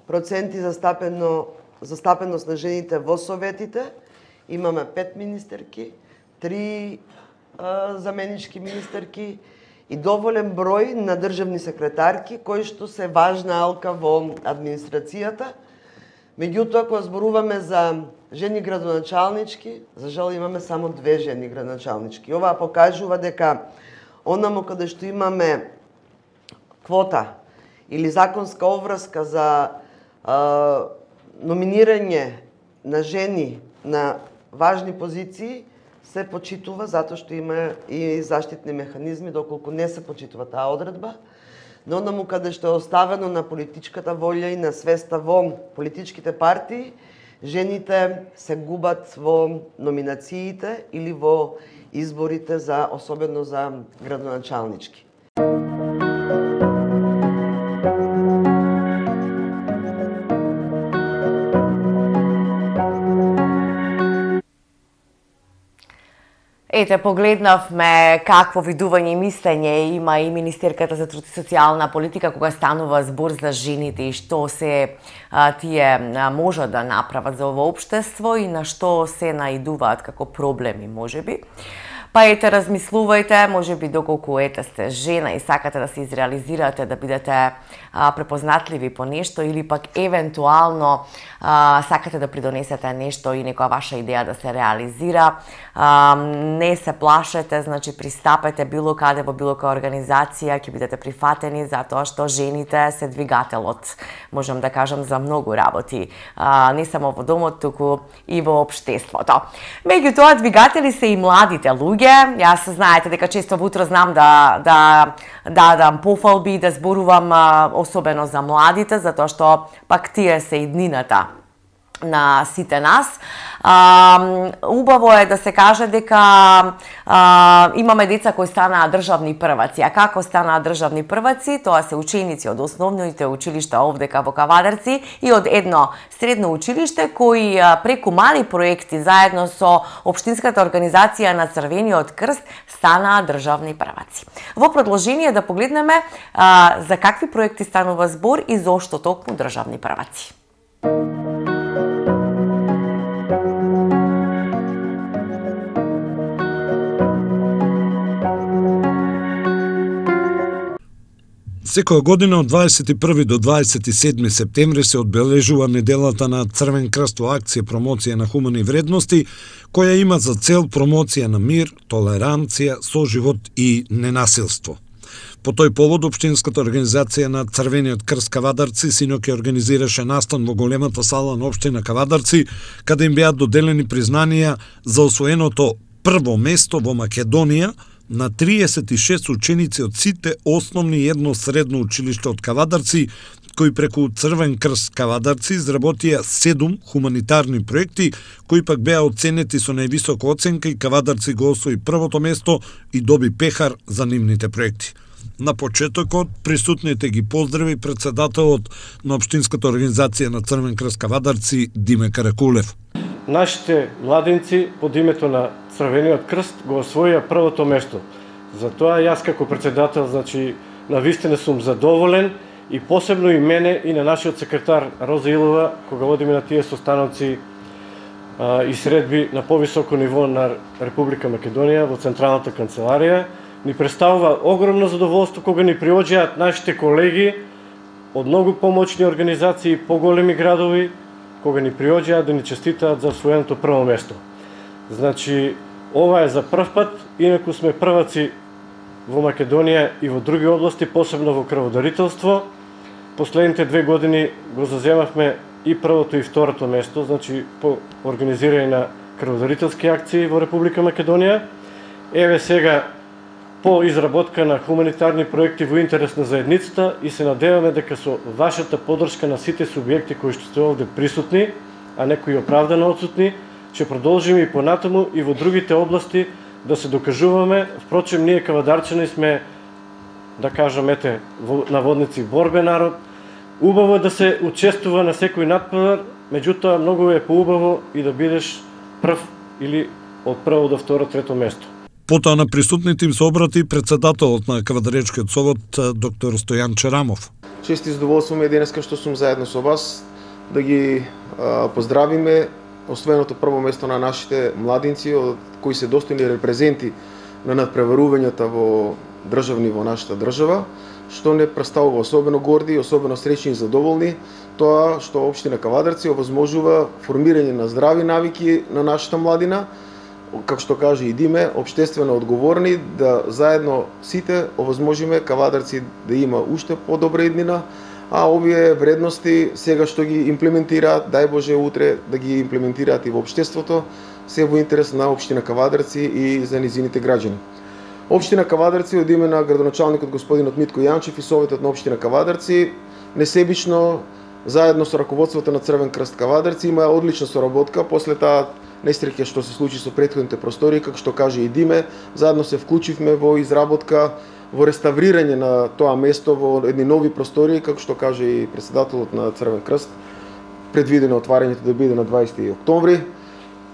проценти застапено, застапеност на жените во советите, имаме пет министерки, три а, заменички министерки и доволен број на државни секретарки, кои што се важна алка во администрацијата. Меѓутоа, кога зборуваме за жени градоначалнички, за жал имаме само две жени градоначалнички. Ова покажува дека онаму каде што имаме квота или законска обврска за а, номинирање на жени на важни позиции се почитува затоа што има и заштитни механизми доколку не се почитува таа одредба. Но онаму каде што е оставено на политичката волја и на свеста во политичките партии, жените се губат во номинациите или во изборите за особено за градоначалнички. Ете, погледнавме какво видување и мислење има и Министерката за труд и социјална политика кога станува збор за жените и што се а, тие а, можат да направат за ово општество и на што се наидуваат како проблеми, можеби. Па ете, размислувајте, можеби доколку ете сте жена и сакате да се изреализирате, да бидете а, препознатливи по нешто или пак евентуално а, сакате да придонесете нешто и некоја ваша идеја да се реализира, а, не се плашете, значи пристапете било каде во било која организација, ќе бидете прифатени затоа што жените се двигателот, можам да кажам, за многу работи, а, не само во домот, туку и во општеството. Меѓутоа, двигатели се и младите луѓе. Јас знаете дека често во утро знам да да да дам пофалби, да зборувам особено за младите, затоа што пак тие се и днината на сите нас. А, убаво е да се каже дека а, имаме деца кои станаа државни прваци. А како станаа државни прваци? Тоа се ученици од основните училишта овдека во Кавадарци и од едно средно училиште кои преку мали проекти заедно со општинската организација на Црвениот крст станаа државни прваци. Во продолжение да погледнеме а, за какви проекти станува збор и зошто токму државни прваци. Секоја година од дваесет и први до дваесет и седми септември се одбележува неделата на Црвен крст во акција промоција на хумани вредности, која има за цел промоција на мир, толеранција, соживот и ненасилство. По тој повод, Општинската организација на Црвениот крст Кавадарци синоќ организираше настан во големата сала на Општина Кавадарци, каде им беа доделени признанија за освоеното прво место во Македонија на триесет и шест ученици од сите основни и едно средно училиште од Кавадарци, кои преку Црвен крст Кавадарци изработија седум хуманитарни проекти, кои пак беа оценети со највисока оценка и Кавадарци го освои првото место и доби пехар за нивните проекти. На почетокот присутните ги поздрави председателот на Општинската организација на Црвен крст Кавадарци Диме Каракулев. Нашите младинци под името на Црвениот крст го освоија првото место. Затоа јас како председател, значи, навистина сум задоволен и посебно и мене и на нашиот секретар Роза Илова, кога водиме на тие состаноци а, и средби на повисоко ниво на Република Македонија во Централната канцеларија, ни представува огромно задоволство кога ни приоѓаат нашите колеги од многу помоćни организации и поголеми градови, кога ни приоѓаат да ни честитаат за освоеното прво место. Значи, ова е за прв пат, инаку сме прваци во Македонија и во други области, посебно во крводарителство. Последните две години го заземавме и првото и второто место, значи по организирање на крводарителски акции во Република Македонија. Еве сега по изработка на хуманитарни проекти во интерес на заедницата и се надеваме дека со вашата поддршка на сите субјекти кои што сте овде присутни, а некои оправдано отсутни, ќе продолжиме и понатаму и во другите области да се докажуваме. Впрочем, ние кавадарчани сме, да кажам, ете, наводници борбен народ. Убаво е да се учествува на секој надпревар, меѓутоа многу е поубаво и да бидеш прв или од прво до второ, трето место. Потоа на присутните им се обрати председателот на Кавадаречкиот совет доктор Стојан Черамов. Чест и задоволство ми е денеска што сум заедно со вас да ги а, поздравиме освоеното прво место на нашите младинци кои се достојни репрезенти на надпреварувањата во државни во нашата држава, што не представува особено горди и особено среќни и задоволни тоа што општина Кавадарци овозможува формирање на здрави навики на нашата младина, како што каже и Диме, општествено одговорни, да заедно сите овозможиме Кавадарци да има уште подобра иднина, а овие вредности сега што ги имплементираат, дај Боже утре да ги имплементираат и во општеството, се во интерес на општина Кавадарци и за низините граѓани. Општина Кавадарци од име на градоначалникот господинот Митко Јанчев и советот на општина Кавадарци несебично заедно со раководството на Црвен крст Кавадарци има одлична соработка после таа несреќа што се случи со претходните простори, како што каже и Диме, заедно се вклучивме во изработка, во реставрирање на тоа место во едни нови простори, како што каже и председателот на Црвен крст, предвидено отварањето да биде на дваесети октомври,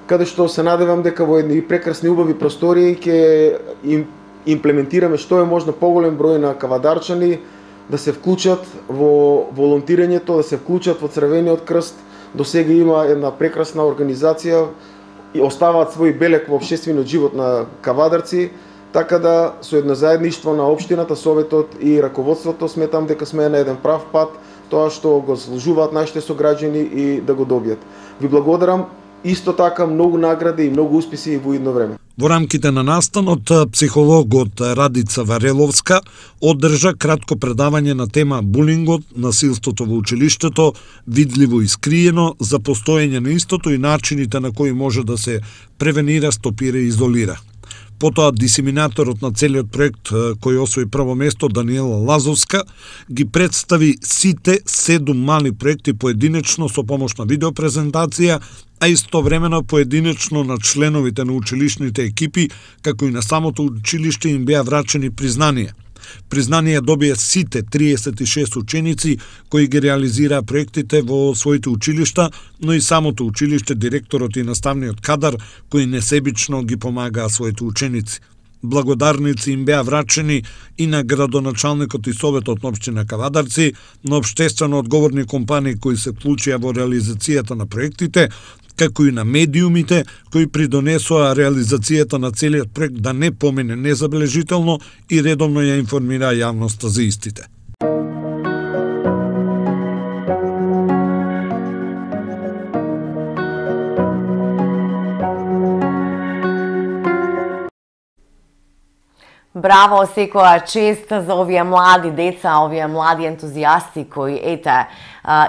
каде што се надевам дека во едни прекрасни убави простори ќе им имплементираме што е можно поголем број на кавадарчани да се вклучат во волонтирањето, да се вклучат во Црвениот крст. До сега има една прекрасна организација и оставаат свој белег во општествениот живот на кавадарци, така да со едно заедништво на општината, советот и раководството сметам дека сме на еден прав пат, тоа што го заслужуваат нашите сограѓани и да го добијат. Ви благодарам. Исто така многу награди и многу успеси во идно време. Во рамките на настанот, психологот Радица Вареловска одржа кратко предавање на тема булингот, насилството во училиштето, видливо и скриено, за постоење на истото и начините на кои може да се превенира, стопира и изолира. Потоа дисеминаторот на целиот проект, кој освои прво место, Даниела Лазовска, ги представи сите седум мали проекти поединечно со помош на видеопрезентација, а истовремено поединечно на членовите на училишните екипи, како и на самото училиште им беа врачени признанија. Признание добија сите триесет и шест ученици кои ги реализираа проектите во своите училишта, но и самото училиште, директорот и наставниот кадар кои несебично ги помагаа своите ученици. Благодарници им беа врачени и на градоначалникот и советот на општина Кавадарци, на општествено одговорни компании кои се вклучија во реализацијата на проектите, како и на медиумите кои придонесоа реализацијата на целиот проект да не помине незабележително и редовно ја информира јавноста за истите. Браво, секоја чест за овие млади деца, овие млади ентузијасти кои, ете,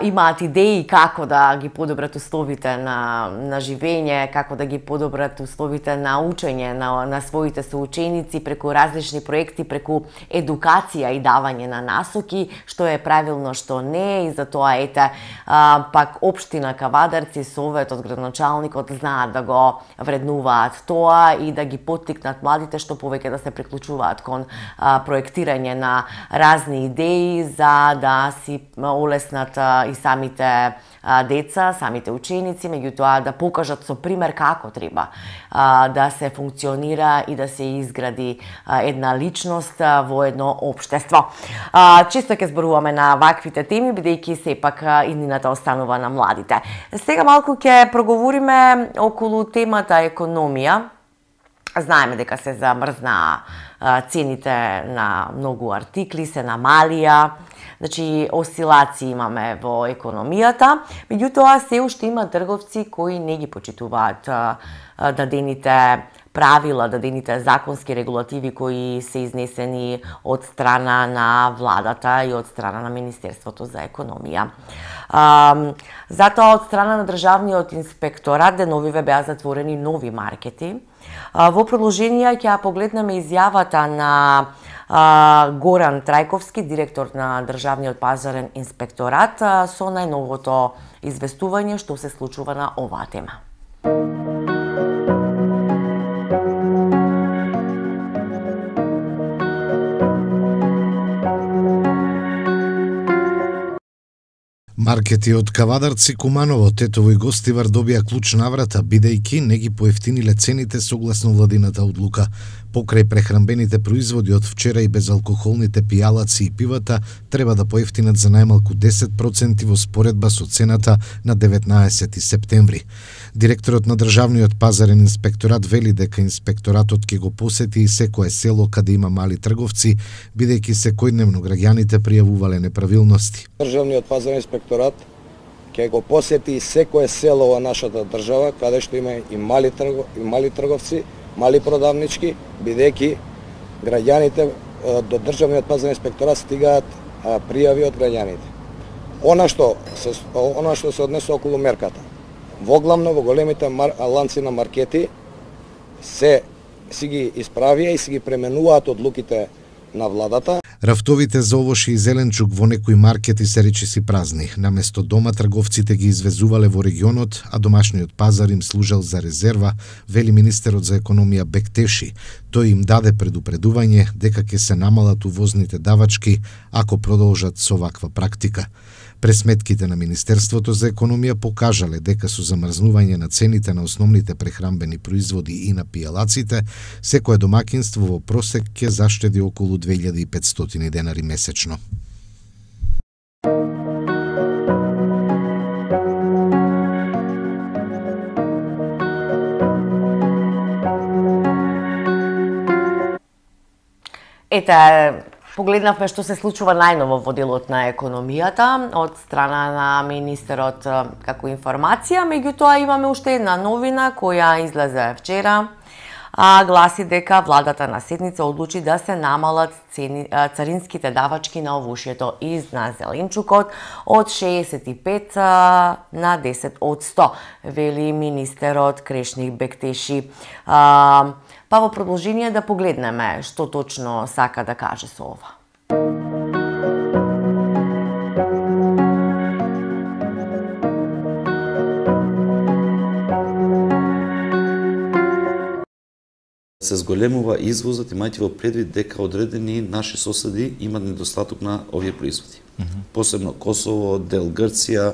имаат идеи како да ги подобрат условите на, на живење, како да ги подобрат условите на учење на, на своите соученици преку различни проекти, преку едукација и давање на насоки, што е правилно, што не, и затоа, ете, пак општина Кавадарци, советот, градоначалникот знаат да го вреднуваат тоа и да ги поттикнат младите што повеќе да се приклучуваат кон а, проектирање на разни идеи за да си олеснат а, и самите а, деца, самите ученици, меѓутоа да покажат со пример како треба а, да се функционира и да се изгради а, една личност а, во едно општество. А, често ќе зборуваме на ваквите теми, бидејќи сепак а, иднината останува на младите. Сега малку ќе проговориме околу темата економија. Знаеме дека се замрзнаа цените на многу артикли, се намалија, значи осцилации имаме во економијата, меѓутоа се уште има трговци кои не ги почитуваат дадените правила, дадените законски регулативи кои се изнесени од страна на владата и од страна на Министерството за економија. А, затоа од страна на Државниот инспекторат деновиве беа затворени нови маркети. А, во продолжение ќе погледнеме изјавата на а, Горан Трајковски, директор на Државниот пазарен инспекторат, а, со најновото известување што се случува на оваа тема. Маркети од Кавадарци, Куманово, Тетово и Гостивар добија клуч наврата, бидејќи не ги поевтиниле цените согласно владината одлука. Покрај прехранбените производи од вчера и безалкохолните пијалаци и пивата треба да поевтинат за најмалку десет проценти во споредба со цената на деветнаесети септември. Директорот на Државниот пазарен инспекторат вели дека инспекторатот ќе го посети и секое село каде има мали трговци, бидејќи секојдневно граѓаните пријавувале неправилности. Државниот пазарен инспекторат ќе го посети секое село во нашата држава каде што има и мали тргов, и мали трговци, мали продавнички, бидејќи граѓаните до Државниот пазарен инспекторат стигаат пријави од граѓаните. Она што се она што се однесе околу мерката. Воглавно во големите мар, ланци на маркети се си ги исправија и си ги пременуваат одлуките на владата. Рафтовите за овошје и зеленчук во некои маркети се речиси празни. Наместо дома трговците ги извезувале во регионот, а домашниот пазар им служел за резерва, вели министерот за економија Бектеши. Тој им даде предупредување дека ќе се намалат увозните давачки ако продолжат со ваква практика. Пресметките на Министерството за економија покажале дека со замрзнување на цените на основните прехранбени производи и на пијалаците, секое домакинство во просек ќе заштеди околу две илјади и петстотини денари месечно. Ете, погледнавме што се случува најново во делот на економијата од страна на министерот како информација, меѓутоа имаме уште една новина која излезе вчера, а гласи дека владата на седница одлучи да се намалат цени, царинските давачки на овошјето и на зеленчукот од шеесет и пет на десет одсто, вели министерот Крешник Бектеши. А, Па во продолжение да погледнеме што точно сака да каже со ова. Се зголемува извозот, имајќи во предвид дека одредени наши соседи имат недостаток на овие производи. Mm -hmm. Посебно Косово, дел Грција,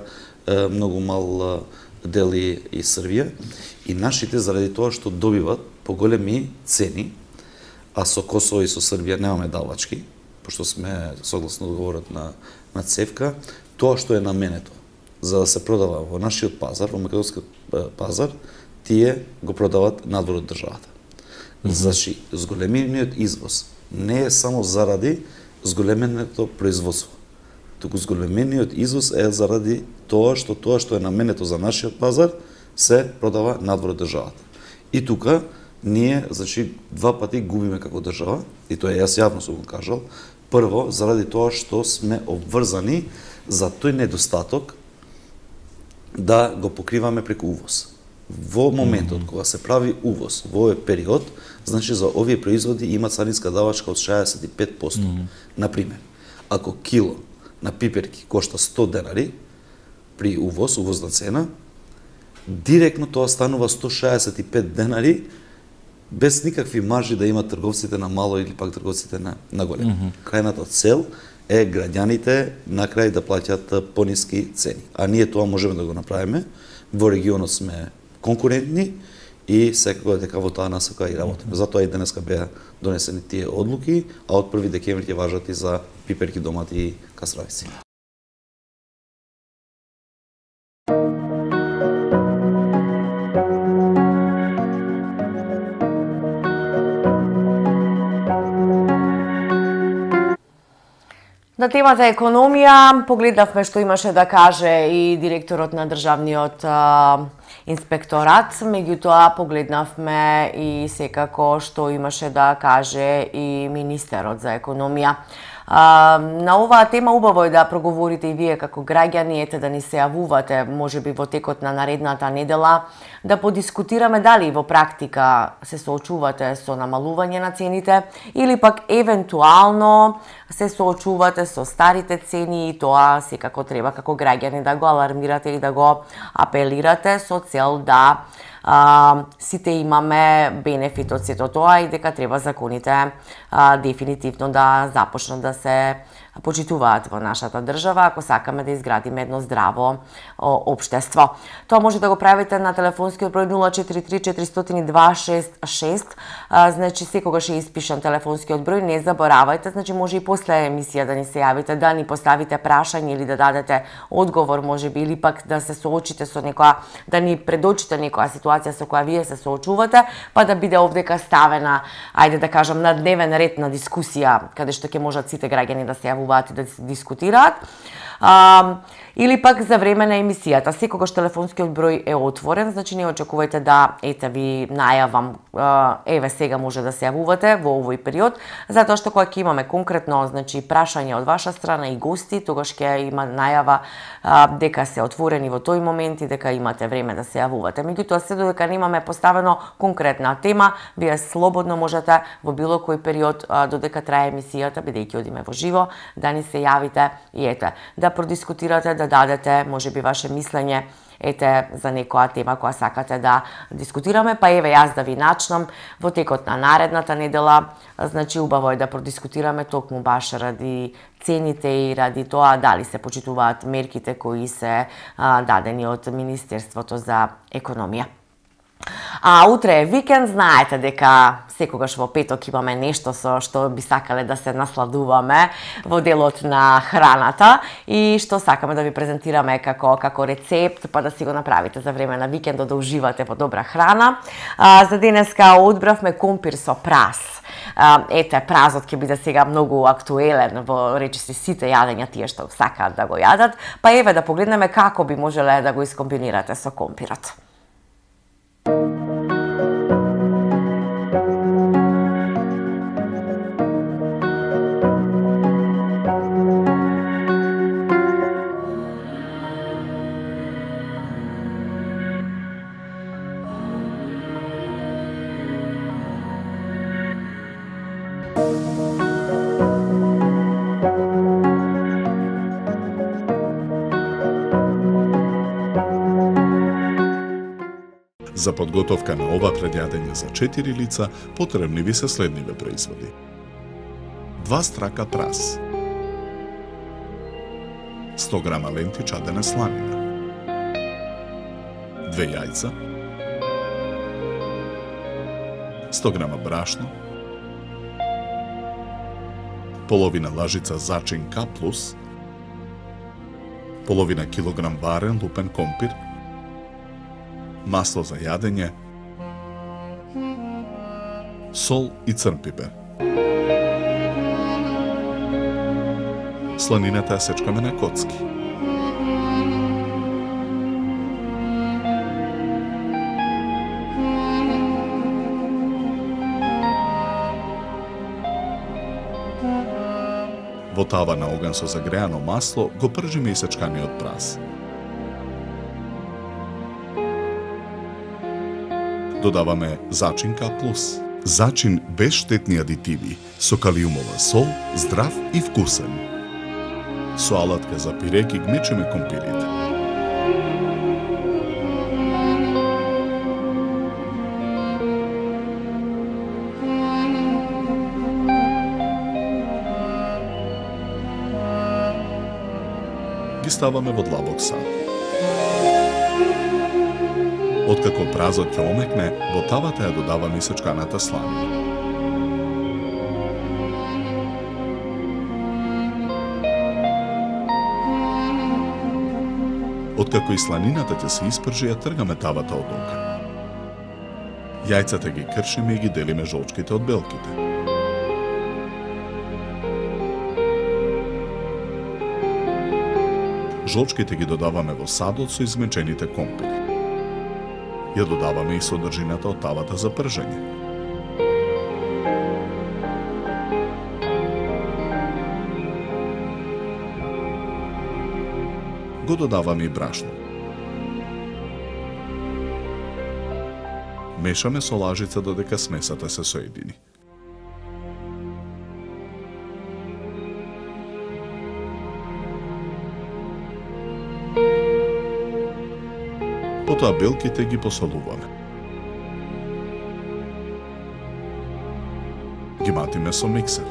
многу мал дел и Србија. И нашите, заради тоа што добиват поголеми цени, а со Косово и со Србија немаме давачки, пошто сме согласно договорот на, на ЦЕФКА, тоа што е наменето за да се продава во нашиот пазар, во македонскиот пазар, тие го продават надвор од државата. Mm -hmm. Значи, зголемениот извоз не е само заради зголеменото производство, туку зголемениот извоз е заради тоа што тоа што е наменето за нашиот пазар се продава надвор од државата. И тука ние, значи, два пати губиме како држава, и тоа јас јавно сум го кажал. Прво, заради тоа што сме обврзани за тој недостаток да го покриваме преку увоз. Во моментот кога се прави увоз во овој период, значи за овие производи има царинска давачка од шеесет и пет одсто. Mm -hmm. Например, ако кило на пиперки кошта сто денари при увоз, увозна цена, директно тоа станува сто шеесет и пет денари без никакви маржи да имат трговците на мало или пак трговците на, на големо. Mm -hmm. Крајната цел е граѓаните на крај да плаќат пониски цени. А ние тоа можеме да го направиме. Во регионот сме конкурентни и секако дека во таа насока и работиме. Затоа и денеска беа донесени тие одлуки, а од први декември ќе важат и за пиперки, домати и кастравици. На темата економија погледнавме што имаше да каже и директорот на државниот а, инспекторат, меѓутоа погледнавме и секако што имаше да каже и министерот за економија. А, на оваа тема убаво е да проговорите и вие како граѓани, ете да ни се јавувате, можеби во текот на наредната недела, да подискутираме дали во практика се соочувате со намалување на цените или пак евентуално се соочувате со старите цени и тоа секако треба како граѓани да го алармирате и да го апелирате со цел да а, сите имаме бенефит од сето тоа и дека треба законите а, дефинитивно да започнат да се почитуваат во нашата држава, ако сакаме да изградиме едно здраво општество. Тоа може да го правите на телефонскиот број нула четири три четири нолу два шест шест, а, значи секогаш е испишан телефонскиот број, не заборавајте, значи може и после емисија да ни се јавите, да ни поставите прашање или да дадете одговор, можеби, или пак да се соочите со некоја, да ни предочите некоја ситуација со која вие се соочувате, па да биде овдека ставена, ајде да кажам, на дневен ред на дискусија, каде што ќе можат сите граѓани да се јавуваат и да се дискутираат. А, Или пак за време на емисијата. Секогаш телефонскиот број е отворен, значи не очекувајте да ете ви најавам, еве сега може да се јавувате во овој период, затоа што кога ќе имаме конкретно, значи прашање од ваша страна и гости, тогаш ќе има најава дека се отворени во тој момент и дека имате време да се јавувате. Меѓутоа, се додека немаме поставено конкретна тема, вие слободно можете во било кој период додека трае емисијата, бидејќи одиме во живо, да ни се јавите и ете, да продискутирате, да дадете можеби ваше мислење ете за некоја тема која сакате да дискутираме, па еве јас да ви начнам во текот на наредната недела, значи убаво е да продискутираме токму баш ради цените и ради тоа дали се почитуваат мерките кои се а, дадени од Министерството за економија. А утре е викенд, знаете дека секогаш во петок имаме нешто со што би сакале да се насладуваме во делот на храната и што сакаме да ви презентираме како како рецепт, па да си го направите за време на викендот да уживате во добра храна. А, за денеска одбравме компир со прас. А, ете, празот ќе биде сега многу актуелен во речиси сите јадења тие што сакаат да го јадат, па еве да погледнеме како би можеле да го искомбинирате со компирот. За подготовка на ова предјадење за четири лица потребни ви се следниве производи. два страка прас, сто грама ленти чадена сланина, две јајца, сто грама брашно, половина лажица зачин К плюс, половина килограм варен лупен компир, масло за јадење, сол и црн пипер. Сланината ја сечкаме на коцки. Во тава на оган со загреано масло го пржиме и сечканиот прас. Додаваме зачин К плюс. Зачин без штетни адитиви, со калиумова сол, здрав и вкусен. Со алатка за пире ги гмечеме компирите. Ги ставаме во длабок сад. Откако празот ќе омекне, во тавата ја додаваме и сечканата сланина. Откако и сланината ќе се испржи, ја тргаме тавата од оган. Јајцата ги кршиме и ги делиме жолчките од белките. Жолчките ги додаваме во садот со измечените компири. Ја додаваме и содржината од тавата за пржење. Го додаваме и брашно. Мешаме со лажица додека смесата се соедини. Потоа белките ги посолуваме. Ги матиме со миксер.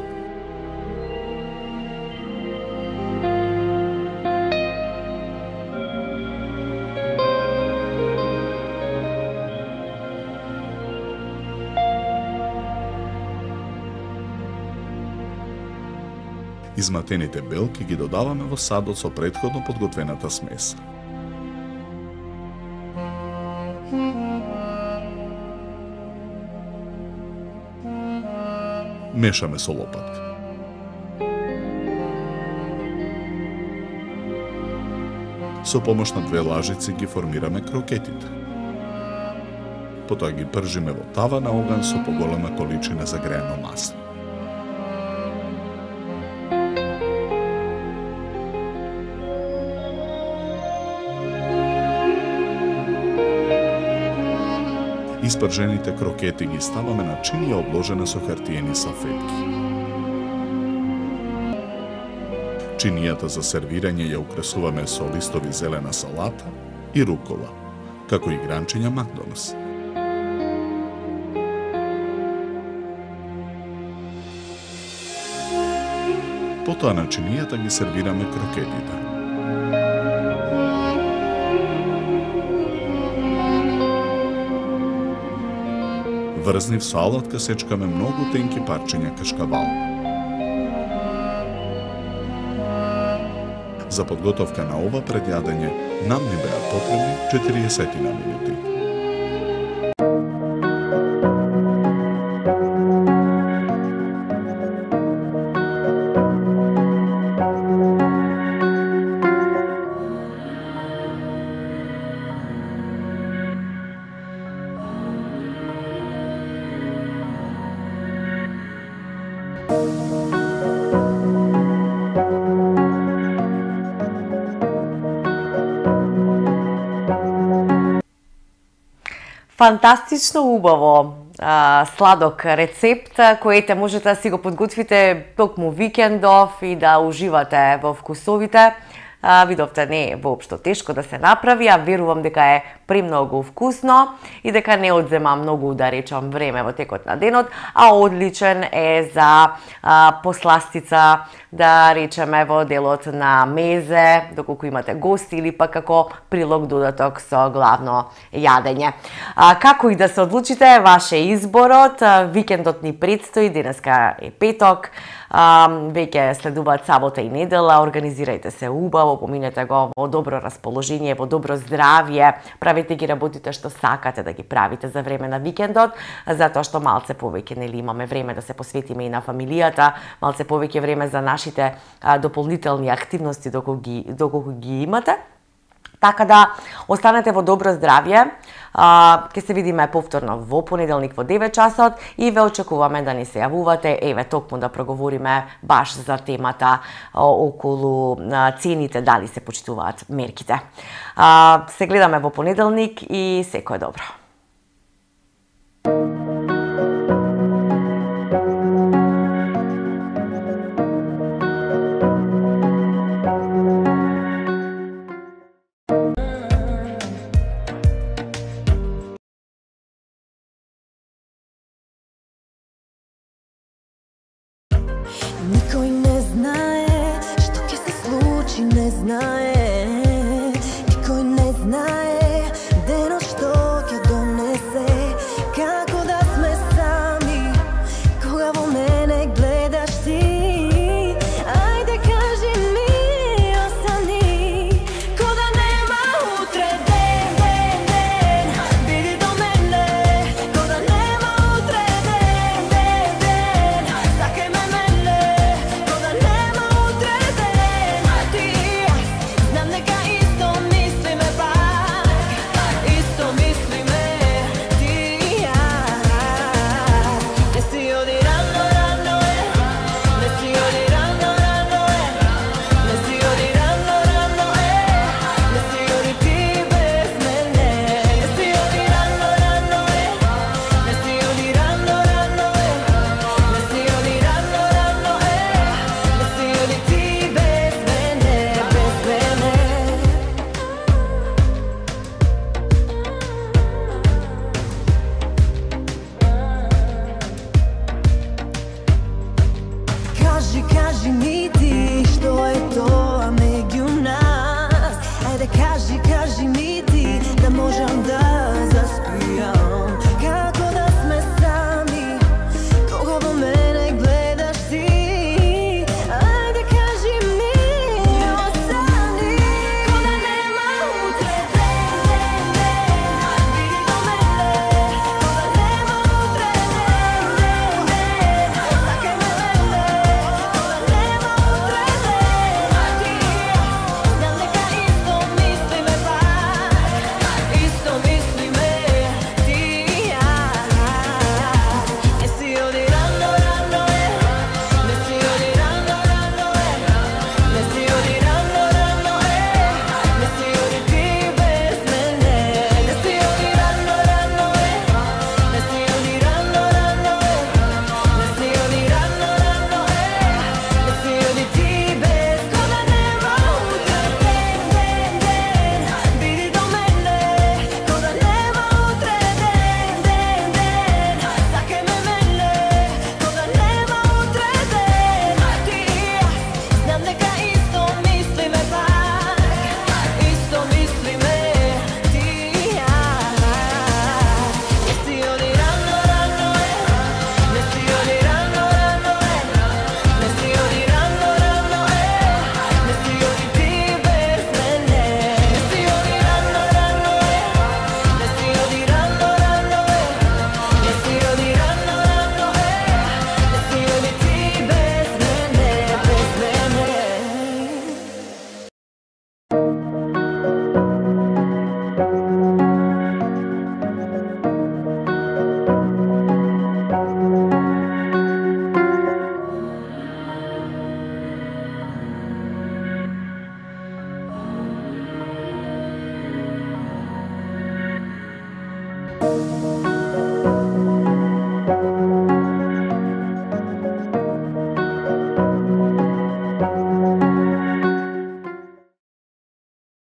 Изматените белки ги додаваме во садот со претходно подготвената смеса. Мешаме со лопатка. Со помош на две лажици ги формираме крокетите. Потоа ги пржиме во тава на оган со поголема количина загреано масло. Испржените крокети ги ставаме на чинија обложена со хартиени салфетки. Чинијата за сервирање ја украсуваме со листови зелена салата и рукола, како и гранчиња Макдоналдс. Потоа на чинијата ги сервираме крокетите. Врзнив со алатка сечкаме многу тенки парчиња кашкавал. За подготовка на ова предјадење нам ни беа потребни четириесет минути. Фантастично убаво а, сладок рецепт, кој можете да си го подготвите токму викендов и да уживате во вкусовите. А, видовте, не е воопшто тешко да се направи, а верувам дека е премногу вкусно и дека не одзема многу, да речам, време во текот на денот, а одличен е за а, посластица, да речеме, во делот на мезе, доколку имате гости или пак како прилог додаток со главно јадење. А, како и да се одлучите, ваше изборот, викендот ни предстои, денеска е петок, а, веќе следуваат сабота и недела, организирајте се убаво, поминете го во добро расположение, во добро здравје, правите ги работите што сакате да ги правите за време на викендот, затоа што малце повеќе нели имаме време да се посветиме и на фамилијата, малце повеќе време за нашите а, дополнителни активности доколку ги, доколку ги имате. Така да останете во добро здравје. Ќе се видиме повторно во понеделник во девет часот и ве очекуваме да ни се јавувате, еве токму да проговориме баш за темата околу цените, дали се почитуваат мерките. Се гледаме во понеделник и секое добро. Никој не знае што ќе се случи, не знае